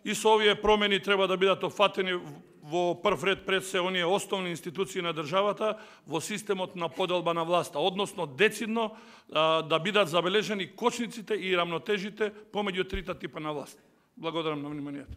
и со овие промени треба да бидат опфатени во прв ред пред се оние основни институции на државата во системот на поделба на власта, односно децидно да бидат забележени кочниците и рамнотежите помеѓу трите типа на власт. Благодарам на вниманието.